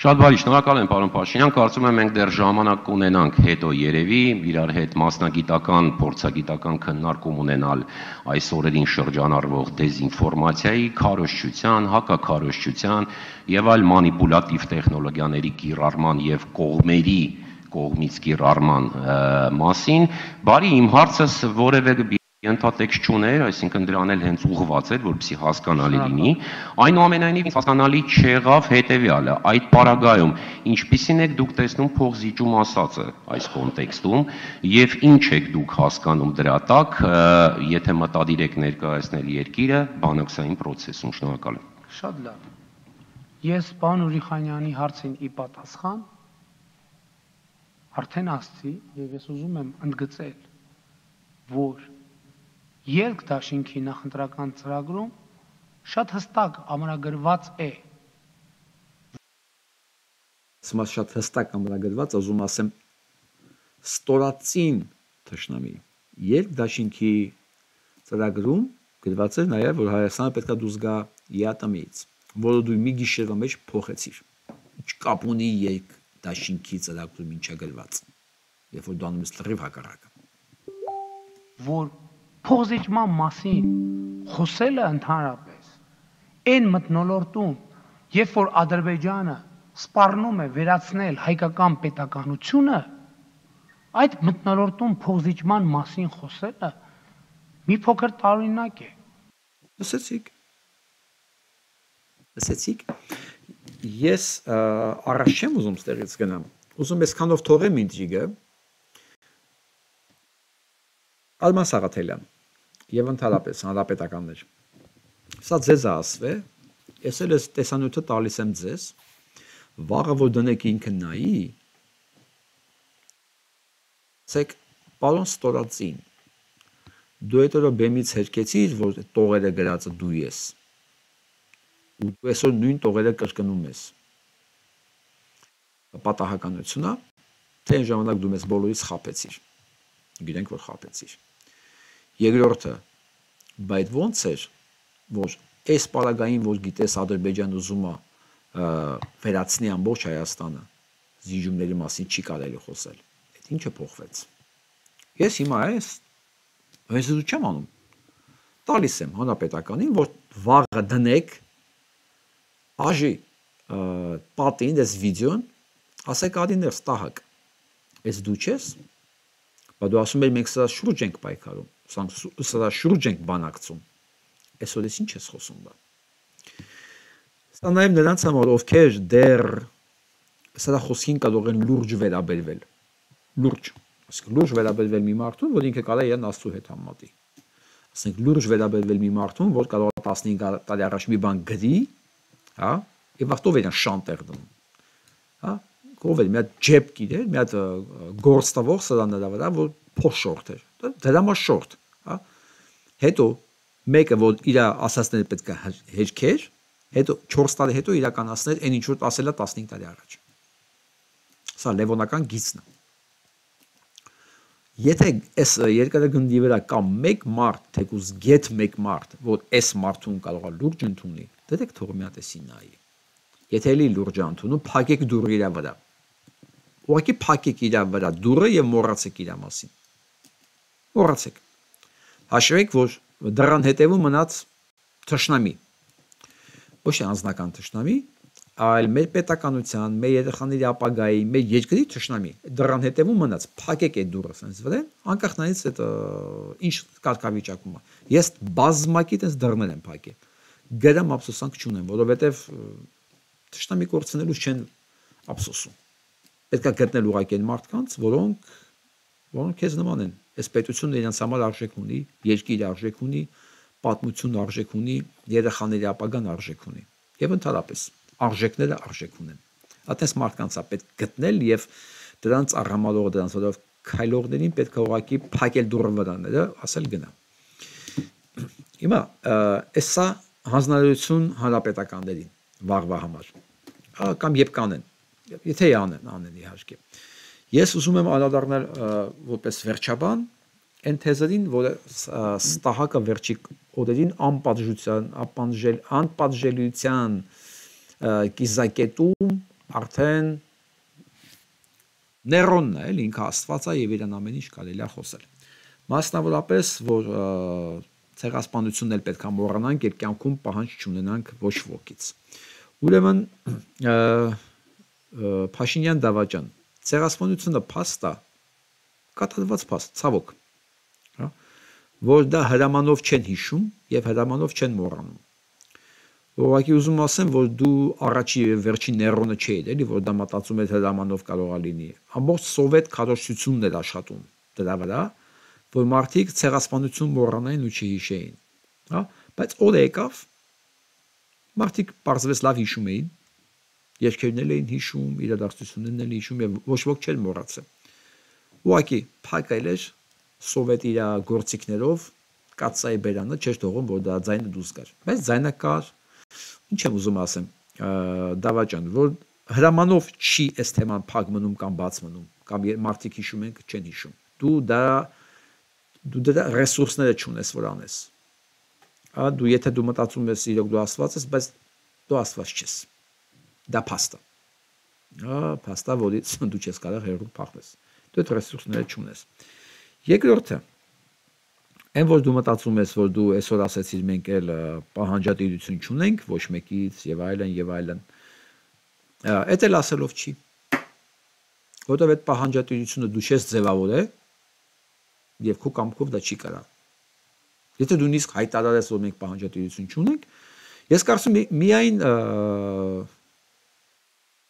Շատ բարի, շնորհակալ եմ պարոն Փաշինյան, կարծում եմ մենք դեռ ժամանակ կունենանք հետո երևի իրար հետ մասնագիտական, փորձագիտական քննարկում ունենալ այս օրերին շրջանառվող դեզինֆորմացիայի, քարոզչության, հակաքարոզչության եւ այլ մանիպուլատիվ տեխնոլոգիաների կիրառման եւ կողմից կիրառման մասին։ Բարի, իմ հարցս որևէ ենթատեքստ չուներ, այսինքն դրան էլ հենց ուղղված էր, որպեսզի հասկանալի լինի։ Այնուամենայնիվ ինձ հասկանալի չեղավ հետեւյալը, այդ պարագայում ինչպիսին եք դուք տեսնում փողզիջում ասածը այս կոնտեքստում եւ ինչ եք դուք հասկանում դրա տակ, եթե մտադիր եք ներկայացնել երկիրը բանակցային process-ում, շնորհակալ եմ։ Շատ լավ։ Ես պարոն Ուրիխանյանի հարցին ի պատասխան արդեն ասացի եւ ես ուզում եմ ընդգծել, որ Ելք դաշինքի նախընտրական ծրագրում շատ հստակ ամրագրված է։ Ասում շատ հստակ ամրագրված, ուզում ասեմ ստորացին թշնամի։ Ելք դաշինքի ծրագրում գրված է նաև, որ Հայաստանը պետք է դուրս գա ԵԱՏՄ-ից, որը դու մի գիշերվա մեջ փոխեցիր։ Ինչ կապ ունի ելք դաշինքի ծրագրում ինչա գրված։ Երբ որ դու անում ես լրիվ հակառակը։ Որ փոխզիջման մասին խոսելը ընդհանրապես այն մթնոլորտում, երբ որ Ադրբեջանը սպառնում է վերացնել հայկական պետականությունը, այդ մթնոլորտում փոխզիջման մասին խոսելը մի փոքր տարօրինակ է։ Լսեցիք։ Ես առաջ չեմ ուզում ստեղից գնամ։ Ուզում ես քանով թողեմ ինտրիգը։ Արման Սաղաթելյան եւ ընդհանրապես հանրապետականներ։ Սա ձեզ է ասվել, ես էլ տեսանյութը տալիս եմ ձեզ, վաղը որ դնեք ինքը նայի, ասեք, պարոն Ստորացին, դու այդ օրը բեմից հերկեցիր, որ տողերը գրածը դու ես, ու դու այսօր նույն տողերը կրկնում ես։ Պատահականությունա, թե այն ժամանակ դու մեզ բոլորից խաբեցիր, գիտենք, որ խաբեցիր։ Երկրորդը, բայց ոնց էր, որ այս պարագային, որ գիտես Ադրբեջան ուզում է վերացնի ամբողջ Հայաստանը, զիջումների մասին չի կարելի խոսել։ Այդ ինչը փոխվեց։ Ես հիմա ես չեմ անում։ Տալիս եմ հանրապետականին, որ վաղը դնեք աժի պատին այս վիդեոն, ասեք ադիներ ստահակ։ Այս դու չես, բայց դու ասում ես մենք սրա շուրջ ենք պայքարում, սրա շուրջ ենք բանակցում։ Այսօր ես ինչ ես խոսում բա։ Սա նաև նրանց համար, ովքեր դեռ սրա խոսքին կարող են լուրջ վերաբերվել։ Լուրջ, ասենք լուրջ վերաբերվել մի մարդուն, որ ինքը կարող է իրեն Աստծու հետ համատի։ Ասենք լուրջ վերաբերվել մի մարդուն, որ կարող է 15 տարի առաջ մի բան գրի, հա, եւ ախտով իրեն շանտեր դնում։ Հա, կով էր մի հատ ջեփ գիրեր, մի հատ գործ տվող սրա նրա վրա, որ փոշորտ էր։ Դրա համար շորտ, հա։ Հետո մեկը որ իր ասածները պետք է հերքեր, հետո 4 տարի հետո իրականացներ այն ինչ որ ասել է 15 տարի առաջ։ Սա լևոնական գիծն է։ Եթե այս երկրագնդի վրա կա մեկ մարդ, թեկուզ գետ մեկ մարդ, որ այս մարդուն կարող է լուրջ ընդունի, դեք թող մի հատ էսի նայի։ Եթե էլի լուրջ ընդունում, փակեք դուրը իր վրա։ Ուղղակի փակեք իր վրա դուրը եւ մոռացեք իր մասին։ Մոռացեք։ Հաշվեք, որ դրան հետևում մնաց թշնամի։ Ոչ թե անձնական թշնամի, այլ մեր պետականության, մեր երեխաների ապագայի, մեր երկրի թշնամի։ Դրան հետևում մնաց, փակեք այդ դուրը sense վրա, անկախ նրանից այդ ինչ կարգավիճակում է։ Ես բազմակի տես դռներ եմ փակել։ Գրամ ափսոսանք չունեմ, որովհետև թշնամի կորցնելուց չեն ափսոսում։ Պետք է գտնել ուղղակի այն մարդկանց, որոնք քեզ նման են։ Այս պետությունը իրենց համար արժեք ունի, երկիրը արժեք ունի, պատմությունը արժեք ունի, երեխաների ապագան արժեք ունի։ Եվ ընդհանրապես արժեքները արժեք ունեն։ Այդպես մարդկանց է պետք գտնել եւ դրանց առհամարող դրանց որով քայլողներին պետք է ուղղակի փակել դուրը վրաները, ասել գնա։ Հիմա էսա հանձնարարություն հանրապետականներին վաղվա համար կամ երբ կանեն։ Եթե անեն իհարկե։ Ես ուզում եմ անդրադառնալ որպես վերջաբան այն թեզերին, որը Ստահակը վերջի օրերին անպատժելիության կիզակետում արդեն Ներոնն է, էլի ինքը Աստված է եւ իրան ամեն ինչ կարելի է խոսել։ Մասնավորապես, որ ցեղասպանությունն էլ պետք է մոռանանք եւ կյանքում պահանջ չունենանք ոչ ոքից։ Ուրեմն Փաշինյան Դավաճան, ցեղասպանությունը փաստ է, կատարված փաստ, ցավոք, հա, որ դա հրամանով չեն հիշում եւ հրամանով չեն մոռանում։ Ուղղակի ուզում ասեմ, որ դու առաջի եւ վերջի Ներոնը չէիր, էլի, որ դա մտածում էր հրամանով կարող է լինի։ Ամբողջ սովետ քարոզչությունն էր աշխատում դրա վրա, որ մարդիկ ցեղասպանություն մոռանային ու չհիշեին, հա, բայց օր եկավ, մարդիկ պարզվեց լավ հիշում էին, երկերն էին հիշում, իրադարձություններն են հիշում եւ ոչ ոք չէր մոռացել։ Ուղղակի փակել էր սովետ իր գործիքներով կացայի բերանը չէր թողում, որ դա ձայնը դուրս գար։ Բայց ձայնը կար, ինչ եմ ուզում ասեմ, Դավաճան, որ հրամանով չի այս թեման փակ մնում կամ բաց մնում, կամ մարդիկ հիշում են, չեն հիշում։ Դու դրա ռեսուրսները չունես, որ անես։ Դու եթե դու մտածում ես իրոք դու Աստված ես, բայց դու Աստված չես։ Դա փաստ է։ Փաստ է, որից դու չես կարող հեռու փախնես։ Դու այդ ռեսուրսները չունես։ Երկրորդը, այն որ դու մտածում ես, որ դու այսօր ասեցիր մենք էլ պահանջատիրություն չունենք, ոչ մեկից եւ այլն եւ այլն։ Այդ էլ ասելով չի։ Որտեղ այդ պահանջատիրությունը դու չես ձևավորել եւ քո կամքով դա չի կարա։ Եթե դու նույնիսկ հայտարարես, որ մենք պահանջատիրություն չունենք, ես կարծում եմ միայն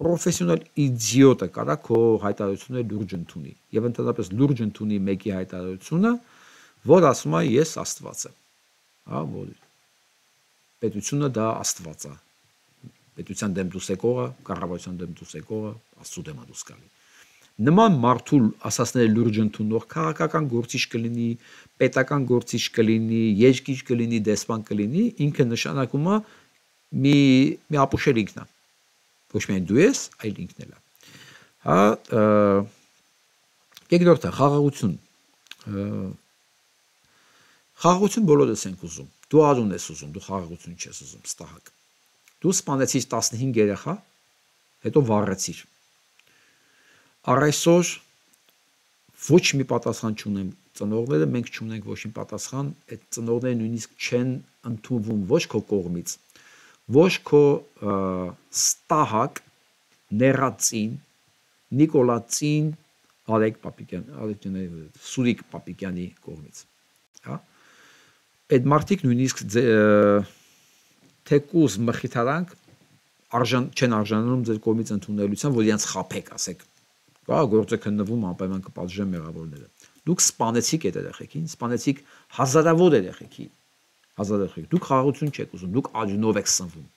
պրոֆեսիոնալ իդիոտը կարա քո հայտարարությունը լուրջ ընդունի եւ ընդհանրապես լուրջ ընդունի մեկի հայտարարությունը, որ ասում է ես Աստված եմ, հա, որ պետությունը դա Աստված է, պետության դեմ դուրս եկողը, կառավարության դեմ դուրս եկողը, Աստծո դեմ դուրս գալի։ Նման մարդու ասածները լուրջ ընդունող քաղաքական գործիչ կլինի, պետական գործիչ կլինի, երկիչ կլինի, դեսպան կլինի, ինքը նշանակում է մի ապուշել ինքն է։ Ոչ միայն դու ես, այլ ինքն էլ է։ Հա, երկրորդը խաղաղություն։ Խաղաղություն բոլորս ենք ուզում։ Դու արուն ես ուզում, դու խաղաղություն չես ուզում, Ստահակ։ Դու սպանեցիր 15 երեխա, հետո վառեցիր։ Առայսօր ոչ մի պատասխան չունեմ ծնողները, մենք չունենք ոչ մի պատասխան, այդ ծնողները նույնիսկ չեն ընդունվում ոչ քո կողմից, ոչ քո Ստահակ նեղածին, Նիկոլածին, Սուրիկ Պապիկյանի կողմից, հա։ Այդ մարդիկ նույնիսկ թեկուզ մխիթարանք չեն արժանանում ձեր կողմից ընդունելության, որ իրենց խաբեք, ասեք, գործը քննվում անպայման կպատժեն մեղավորները։ Դուք սպանեցիք այդ երեխեքին, սպանեցիք հազարավոր երեխեքի, դուք խաղաղություն չեք ուզում, դուք աջունով եք սնվում,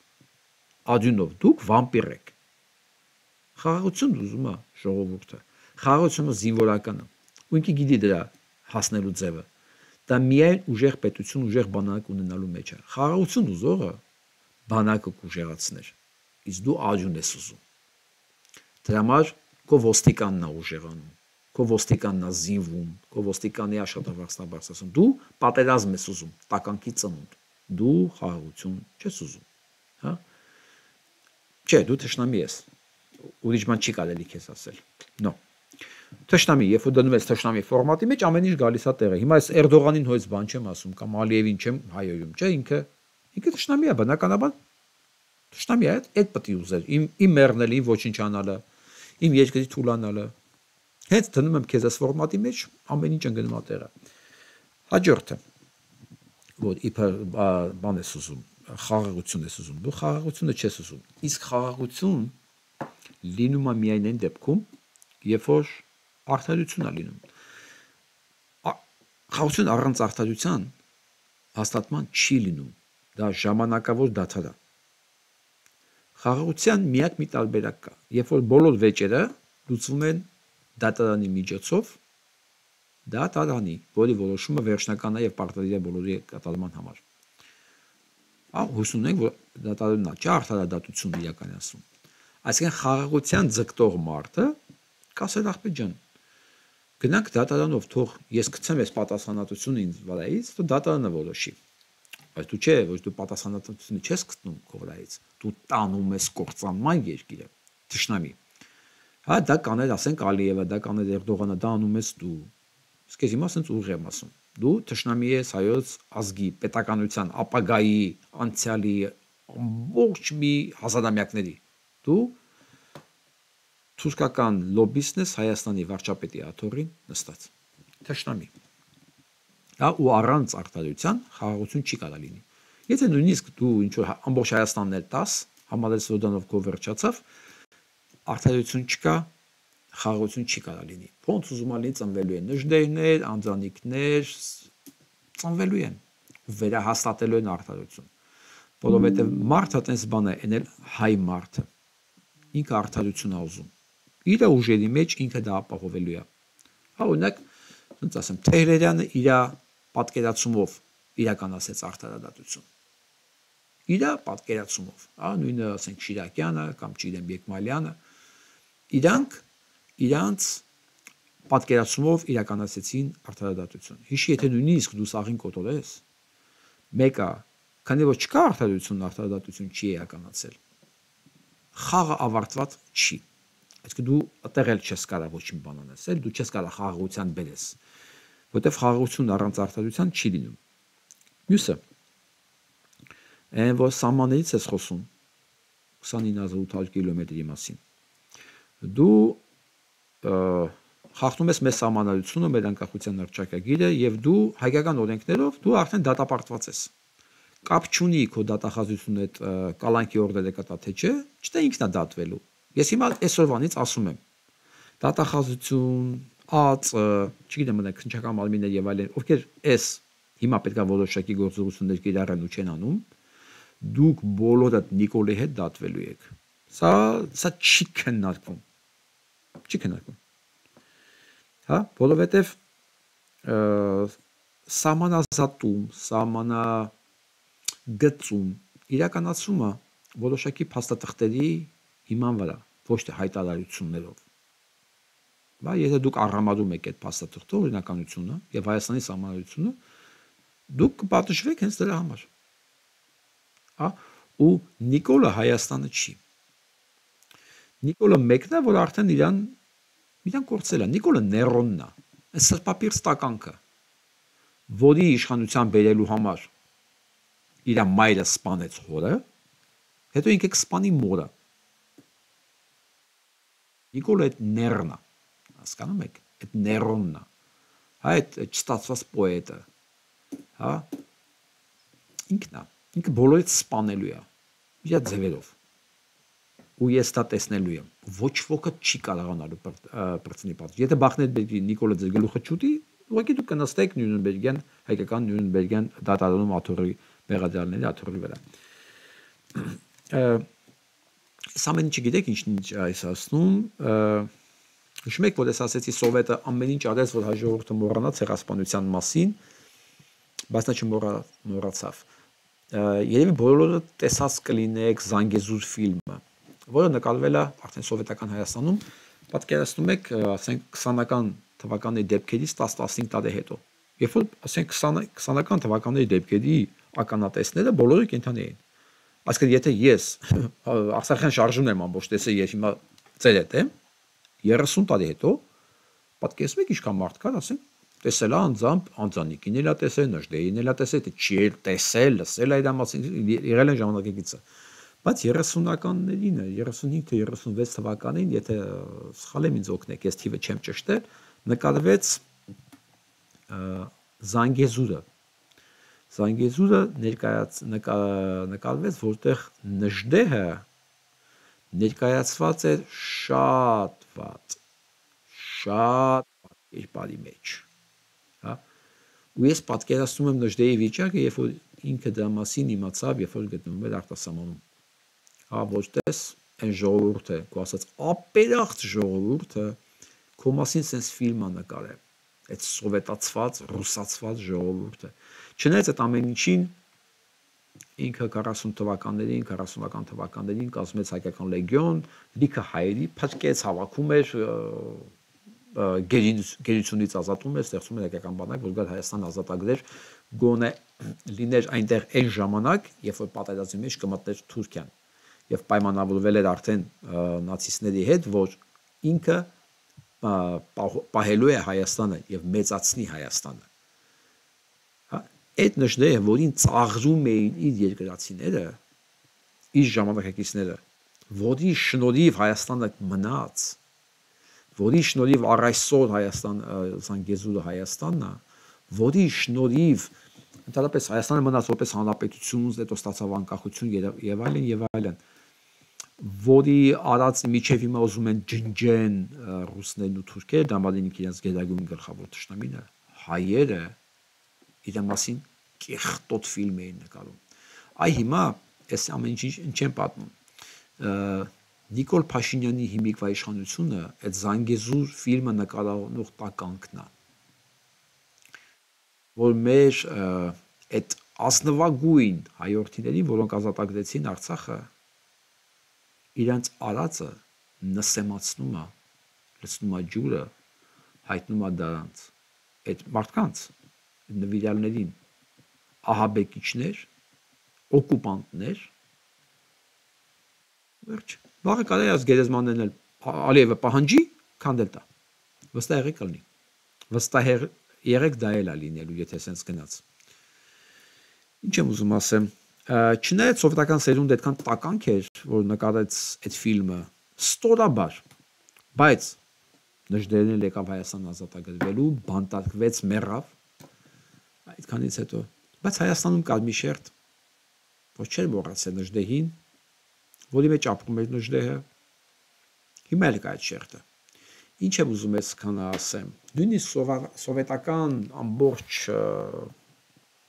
աջունով, դուք վամպիր եք։ Խաղաղություն ուզում է ժողովուրդը, խաղաղությունը զինվորական է, ու ինքը գիտի դրա հասնելու ձևը։ Դա միայն ուժեղ պետություն, ուժեղ բանակ ունենալու մեջ է։ Խաղաղություն ուզողը բանակը կուժեղացներ, իսկ դու աջուն ես ուզում։ Դրա համար քո ոստիկանն է ուժեղանում, քո ոստիկանն է զինվում, քո ոստիկանի աշխատավարձն է բարձրացնում։ Դու պատերազմ ես ուզում, տականքի ծնունդ։ Դու խաղաղություն չես ուզում, հա։ Չէ, դու թշնամի ես։ Ուրիշ բան չի կարելի քեզ ասել։ No։ Թշնամի, երբ որ դնում ես թշնամի ֆորմատի մեջ, ամեն ինչ գալիս է տեղը։ Հիմա այս Էրդողանին հույս բան չեմ ասում, կամ Ալիևին չեմ հայոյում, չէ, ինքը թշնամի է, բնականաբար թշնամի է, այդ պետք է ուզել, իմ մեռնելը, իմ ոչինչ անալը, իմ երկրի թուլանալը։ Հենց դնում եմ քեզ այս ֆորմատի մեջ, ամեն ինչ ընկնում է տեղը։ Հաջորդը, որ իբր բան ես ուզում, խաղաղություն ես ուզում, դու խաղաղությունը չես ուզում։ Իսկ խաղաղություն լինում է միայն այն դեպքում, երբ որ արդարություն է լինում։ Խաղաղություն առանց արդարության հաստատման չի լինում։ Դա ժամանակավոր դադար է։ Խաղաղության միակ մի տարբերակ կա, երբ որ բոլոր վեճերը լուծվում են դատարանի միջոցով, դատարանի, որի որոշումը վերջնական է եւ պարտադիր է բոլորի կատարման համար։ Հույս ունենք, որ դատարանն չէ արդարադատություն իրականացնում, Այսինքն խաղաղության ձգտող մարդը կասել ախպետ ջան, գնանք դատարանով, թող ես գցեմ այս պատասխանատվությունը ինձ վրայից, թող դատարանը որոշի։ Բայց դու չէ, ոչ դու պատասխանատվությունը չես գտնում քո վրայից, դու տանում ես կործանման երկիրը, թշնամի։ Հա դա կանել, ասենք Ալիևը, դա կանել Էրդողանը, դա անում ես դու։ Իսկ ես հիմա ասենց ուղիղ եմ ասում։ Դու թշնամի ես հայոց ազգի, պետականության, ապագայի, անցյալի, ամբողջ մի հազարամյակների։ Դու թուրքական լոբիստն ես Հայաստանի վարչապետի աթոռին նստած։ Թշնամի։ Հա ու առանց արտադրության խաղաղություն չի կարող լինի։ Եթե նույնիսկ դու ինչ որ ամբողջ Հայաստանն էլ տաս, համալել Սոդանով կո վերջացավ, արտադրություն չկա, խաղաղություն չի կարող լինի։ Ոնց ուզում ալի ծնվելու են նժդեհներ, անձանիկներ, ծնվելու են ու վերահաստատելու են արտադրություն։ Որովհետև մարդը տես բան է, էնել հայ մարդը։ Ինքը արտադրություն է ուզում։ Իր ուժերի մեջ ինքը դա ապահովելու է։ Հա օրինակ, ոնց ասեմ, Թեհրերյանը իր պատկերացումով իրականացեց արտադրություն։ Իր պատկերացումով, հա, նույնը ասենք Շիրակյանը կամ չգիտեմ Բեկմալյանը, իրանք պատկերացումով իրականացեցին արտադրություն։ Հիշի, եթե նույնիսկ դու սաղին կոտորես, մեկը, քանի որ չկա արտադրություն չի իրականացել։ Խաղը ավարտված չի։ Այսինքն դու այդտեղ էլ չես կարող ոչ մի բան անես, դու չես կարող խաղաղության բերես, որտեղ խաղաղություն առանց արտադրության չի լինում։ Մյուսը, այն որ սահմաններից ես խոսում 29800 կիլոմետրի մասին։ Դու խախտում ես մեր սահմանադրությունը, մեր անկախության հռչակագիրը եւ դու հայկական օրենքներով դու արդեն դատապարտված ես։ Կապ չունի քո դատախազությունը այդ կալանքի օրդերը կտա թե չէ, չտա ինքն է դատվելու։ Ես հիմա այսօրվանից ասում եմ, դատախազություն, ԱԾ, չգիտեմ, մենակ քննչական մարմիններ եւ այլն, ովքեր այս հիմա պետքա որոշակի գործողություններ կիրառեն ու չեն անում, դուք բոլորդ Նիկոլի հետ դատվելու եք։ Սա չի քննարկվում։ Չի քննարկվում։ Հա, որովհետեւ սահմանազատում, սահմանագծում իրականացումը որոշակի փաստաթղթերի հիման վրա, ոչ թե հայտարարություններով։ Բա եթե դուք առամարում եք այդ փաստաթղթը, օրինականությունը եւ Հայաստանի սահմանադրությունը, դուք կպատժվեք հենց դրա համար։ Հա, ու Նիկոլը Հայաստանը չի։ Նիկոլը մեկն է, որ արդեն իրան կորցել է։ Նիկոլը Ներոնն է, այս սրբապիր ստականքը, որի իշխանության բերելու համար իր մայրը սպանեց հորը, հետո ինքը կսպանի մորը։ Նիկոլը այդ Ներն է, հասկանում եք, այդ Ներոնն է, հա, այդ չստացված պոետը, հա, ինքը բոլորից սպանելու է, իր ձևերով, ու ես դա տեսնելու եմ, ոչ ոքը չի կարողանալու պրծնի պատժ։ Եթե Բախնեդբերգի Նիկոլը ձեր գլուխը չուտի, ուղղակի դուք կնստեք Նյուրնբերգյան, հայկական Նյուրնբերգյան դատարանում աթոռի մեղադրյալների աթոռի վրա։ Սա ամեն ինչ գիտեք ինչ այս ասնում, հիշում եք, որ ես ասեցի Սովետը ամեն ինչ արեց, որ հայ ժողովուրդը մոռանա ցեղասպանության մասին, բայց նա չմոռացավ։ Երևի բոլորը տեսած կլինեք Զանգեզուր ֆիլմը, որը նկարվել է արդեն սովետական Հայաստանում, պատկերացնում եք, ասենք 20-ական թվականի դեպքերից 10-15 տարի հետո։ Երբ որ ասենք 20-ական թվականների դեպքերի ականատեսները բոլորը կենդանի էին։ Այսինքն եթե ես Արցախյան շարժումն եմ ամբողջ տեսել, ես հիմա ծեր հետ եմ 30 տարի հետո, պատկերացնում եք ինչքան մարդ կար, ասենք տեսել է անձամբ անձանիկին էլ է տեսել, նժդեհին էլ է տեսել, թե չի էլ տեսել, լսել է իր մասին, եղել են ժամանակակիցը։ Բայց 30-ականներին, 35 թե 36 թվականին, եթե սխալ եմ ինձ օգնեք, ես թիվը չեմ ճշտել, նկարվեց Զանգեզուրը։ Զանգեզուրը նկարվեց, որտեղ նժդեհը ներկայացված էր շատ վատ կերպարի մեջ։ Հա։ Ու ես պատկերացնում եմ նժդեհի վիճակը, երբ որ ինքը դրա մասին իմացավ, երբ որ գտնվում էր արտասահմանում։ Հա, ոչ տես այն ժողովուրդը, քո ասած ապերախտ ժողովուրդը, քո մասին sense ֆիլմ է նկարել։ Այդ սովետացված, ռուսացված ժողովուրդը։ Չնայած այդ ամեն ինչին ինքը 40 թվականներին, 40-ական թվականներին կազմեց հայկական լեգիոն, լիքը հայերի փրկեց, հավաքում էր, գերությունից ազատում էր, ստեղծում էր հայկական բանակ, որ գալ Հայաստան ազատագրեր, գոնե լիներ այնտեղ այն ժամանակ, երբ որ պատերազմի մեջ կմտներ Թուրքիան, եւ պայմանավորվել էր արդեն նացիստների հետ, որ ինքը պահելու է Հայաստանը եւ մեծացնի Հայաստանը։ Այդ նշները, որին ծաղրում էին իր երկրացիները, իր ժամանակակիցները, որի շնորհիվ Հայաստանը մնաց, որի շնորհիվ առ այսօր Զանգեզուրը Հայաստանն է, որի շնորհիվ ընդհանրապես Հայաստանը մնաց որպես հանրապետություն, հետո ստացավ անկախություն եւ այլն եւ այլն, որի արած միջև հիմա ուզում են ջնջեն ռուսներն ու թուրքերը, դա մալին իրենց գերագույն գլխավոր թշնամին է, հայերը իր մասին կեղտոտ ֆիլմ էին նկարում։ Այ հիմա այս ամեն ինչ չեմ պատմում։ Նիկոլ Փաշինյանի հիմիկվա իշխանությունը այդ Զանգեզուր ֆիլմը նկարահանող տականքն է, որ մեր այդ ազնվագույն հայորդիներին, որոնք ազատագրեցին Արցախը, իրենց արածը նսեմացնում է, լցնում է ջուրը, հայտնում է դրանց այդ մարդկանց, նվիրյալներին, ահաբեկիչներ, օկուպանտներ, վերջ, վաղը կարելի է գերեզմաններն էլ Ալիևը պահանջի, քանդել տա, վստահ եղեք կլինի, վստահ եղեք դա էլ է լինելու, եթե սենց գնաց։ Ինչ եմ ուզում ասեմ, չնայած սովետական սերունդը այդքան տականք էր, որ նկարեց այդ ֆիլմը, ստորաբար, բայց նժդերն էլ եկավ Հայաստան ազատագրվելու, բանտարկվեց, մեռավ, այդքանից հետո, բայց Հայաստանում կար մի շերտ, որ չէր մոռացել նժդեհին, որի մեջ ապրում էր նժդեհը, հիմա էլ կա այդ շերտը։ Ինչ եմ ուզում ես քան ասեմ, նույնիսկ սովետական ամբողջ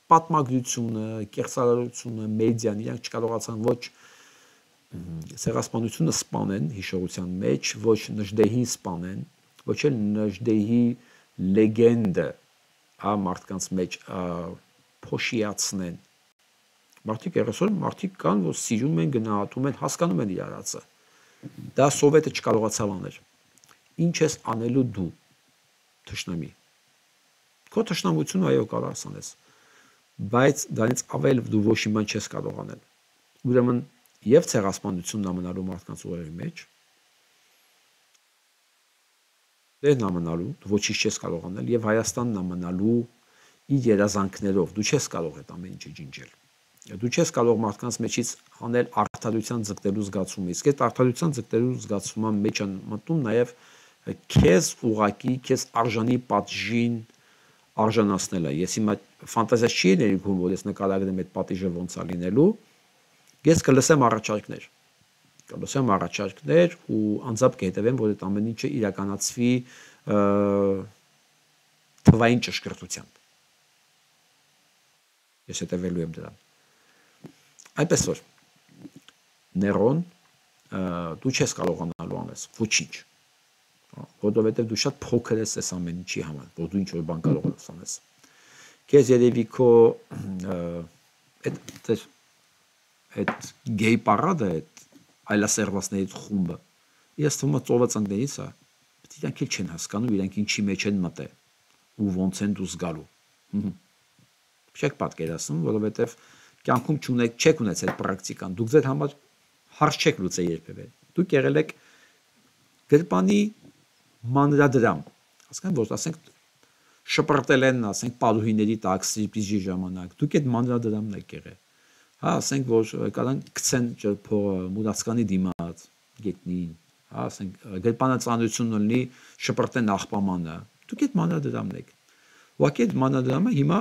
պատմագրությունը, կեղծարարությունը, մեդիան, իրանք չկարողացան ոչ ցեղասպանությունը սպանեն հիշողության մեջ, ոչ նժդեհին սպանեն, ոչ էլ նժդեհի լեգենդը մարդկանց մեջ փոշիացնեն։ Մարդիկ երեսօր մարդիկ կան, որ սիրում են, գնահատում են, հասկանում են իր արածը։ Դա սովետը չկարողացավ անել։ Ինչ ես անելու դու, թշնամի։ Քո թշնամությունը այո կարող ասանես, բայց դրանից ավել դու ոչ մի բան չես կարող անել։ Ուրեմն եւ ցեղասպանությունն ամնալու մարդկանց ուղերի մեջ, դերն ամնալու, ոչինչ չես կարող անել, եւ Հայաստանն ամնալու իր երազանքներով, դու չես կարող այդ ամեն ինչը ջնջել։ Դու չես կարող մարդկանց մեջից անել արդարության ձգտելու զգացումը, իսկ այդ արդարության ձգտելու զգացումը մեջ են մտնում նաեւ քեզ ուղակի, քեզ արժանի պատժին արժանացնելը։ Ես հիմա ֆանտազիա չի ներկայացնում, որ ես նկարագրեմ այդ պատիժը ոնց է լինելու, ես կլսեմ առաջարկներ ու անձամբ կհետևեմ, որ այդ ամեն ինչը իրականացվի թվային ճշգրտությամբ։ Ես հետևելու եմ դրան։ Այդպես որ Ներոն դու չես կարողանալու անես ոչինչ, որովհետև դու շատ փոքր ես այս ամեն ինչի համար, որ դու ինչ-որ բան կարող ես անես։ Քեզ երևի քո այդ գեյ պարադը, այդ այլասերվածների խումբը, ես թվում է ծովացաններից է, իրանք էլ չեն հասկանում, իրանք ինչի մեջ են մտել ու ոնց են դուրս գալու։ Չեք պատկերացնում, որովհետև կյանքում չեք ունեցել պրակտիկան, դուք ձեր համար հարց չեք լուծել երբևէ։ Դուք եղել եք գրպանի մանրադրամ, հասկանք, որ ասենք շպրտել են, ասենք պարուհիների տակ սրիպիժի ժամանակ, դուք այդ մանրադրամն եք եղել։ Հա, ասենք, որ կարան գցեն փողը մուրացկանի դիմաց, գետնին, հա, ասենք գրպանը ծանրություն ունի, շպրտեն աղբամանը, դուք այդ մանրադրամն եք։ Ուղղակի այդ մանրադրամը հիմա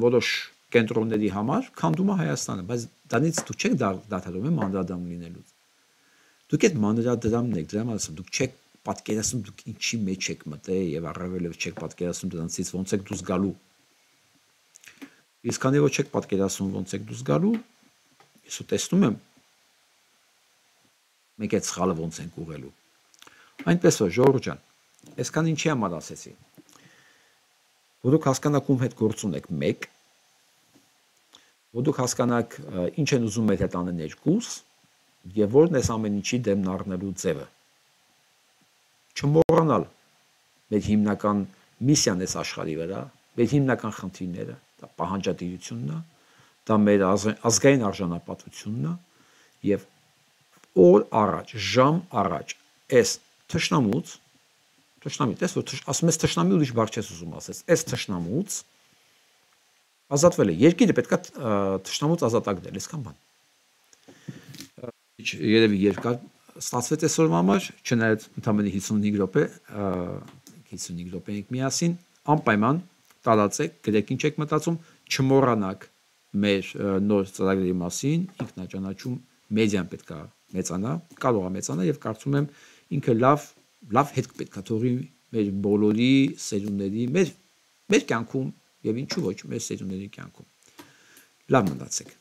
որոշ կենտրոնների համար քանդում է Հայաստանը, բայց դրանից դուք չեք դադարում մանրադրամ լինելուց։ Դուք այդ մանրադրամն եք, դրա համար դուք չեք պատկերացնում դուք ինչի մեջ եք մտել եւ առավել չեք պատկերացնում դրանից ոնց եք դուրս գալու։ Իսկ քանի որ չեք պատկերացնում ոնց եք դուրս գալու, ես տեսնում եմ մեկ այդ սխալը ոնց ենք ուղղելու։ Այնպես որ Ժողովուրդ ջան, այսքան ինչի համար ասեցի։ Որ դուք հասկանաք ում հետ գործ ունեք, մեկ, որ դուք հասկանաք ինչ են ուզում մեր հետ անել ներկուս եւ որն է ամեն ինչի դեմն առնելու ձևը։ Չմոռանալ մեր հիմնական միսիան է աշխարհի վրա, մեր հիմնական խնդիրները, դա պահանջատիրությունն է, դա մեր ազգային արժանապատվությունն է եւ օր առաջ, ժամ առաջ այս թշնամուց, տես որ ասում ես թշնամի ուրիշ բառ չես ուզում ասես, այս թշնամուց ազատվել է, երկիրը պետքա թշնամուց ազատագրել, այսքան բան։ Երևի երկար ստացվեց այսօրվա համար, չնայած ընդամենը 55 րոպե, 55 րոպե ենք միասին, անպայման տարածեք, գրեք ինչ եք մտածում, չմոռանաք մեր նոր ծրագրերի մասին, ինքնաճանաչում մեդիան պետքա մեծանա, կարող է մեծանա եւ կարծում եմ ինքը լավ հետք պետքա թողի մեր բոլորի սերունդների, մեր կյանքում եւ ինչու ոչ մեր սերունդների կյանքում։ Լավ մնացեք։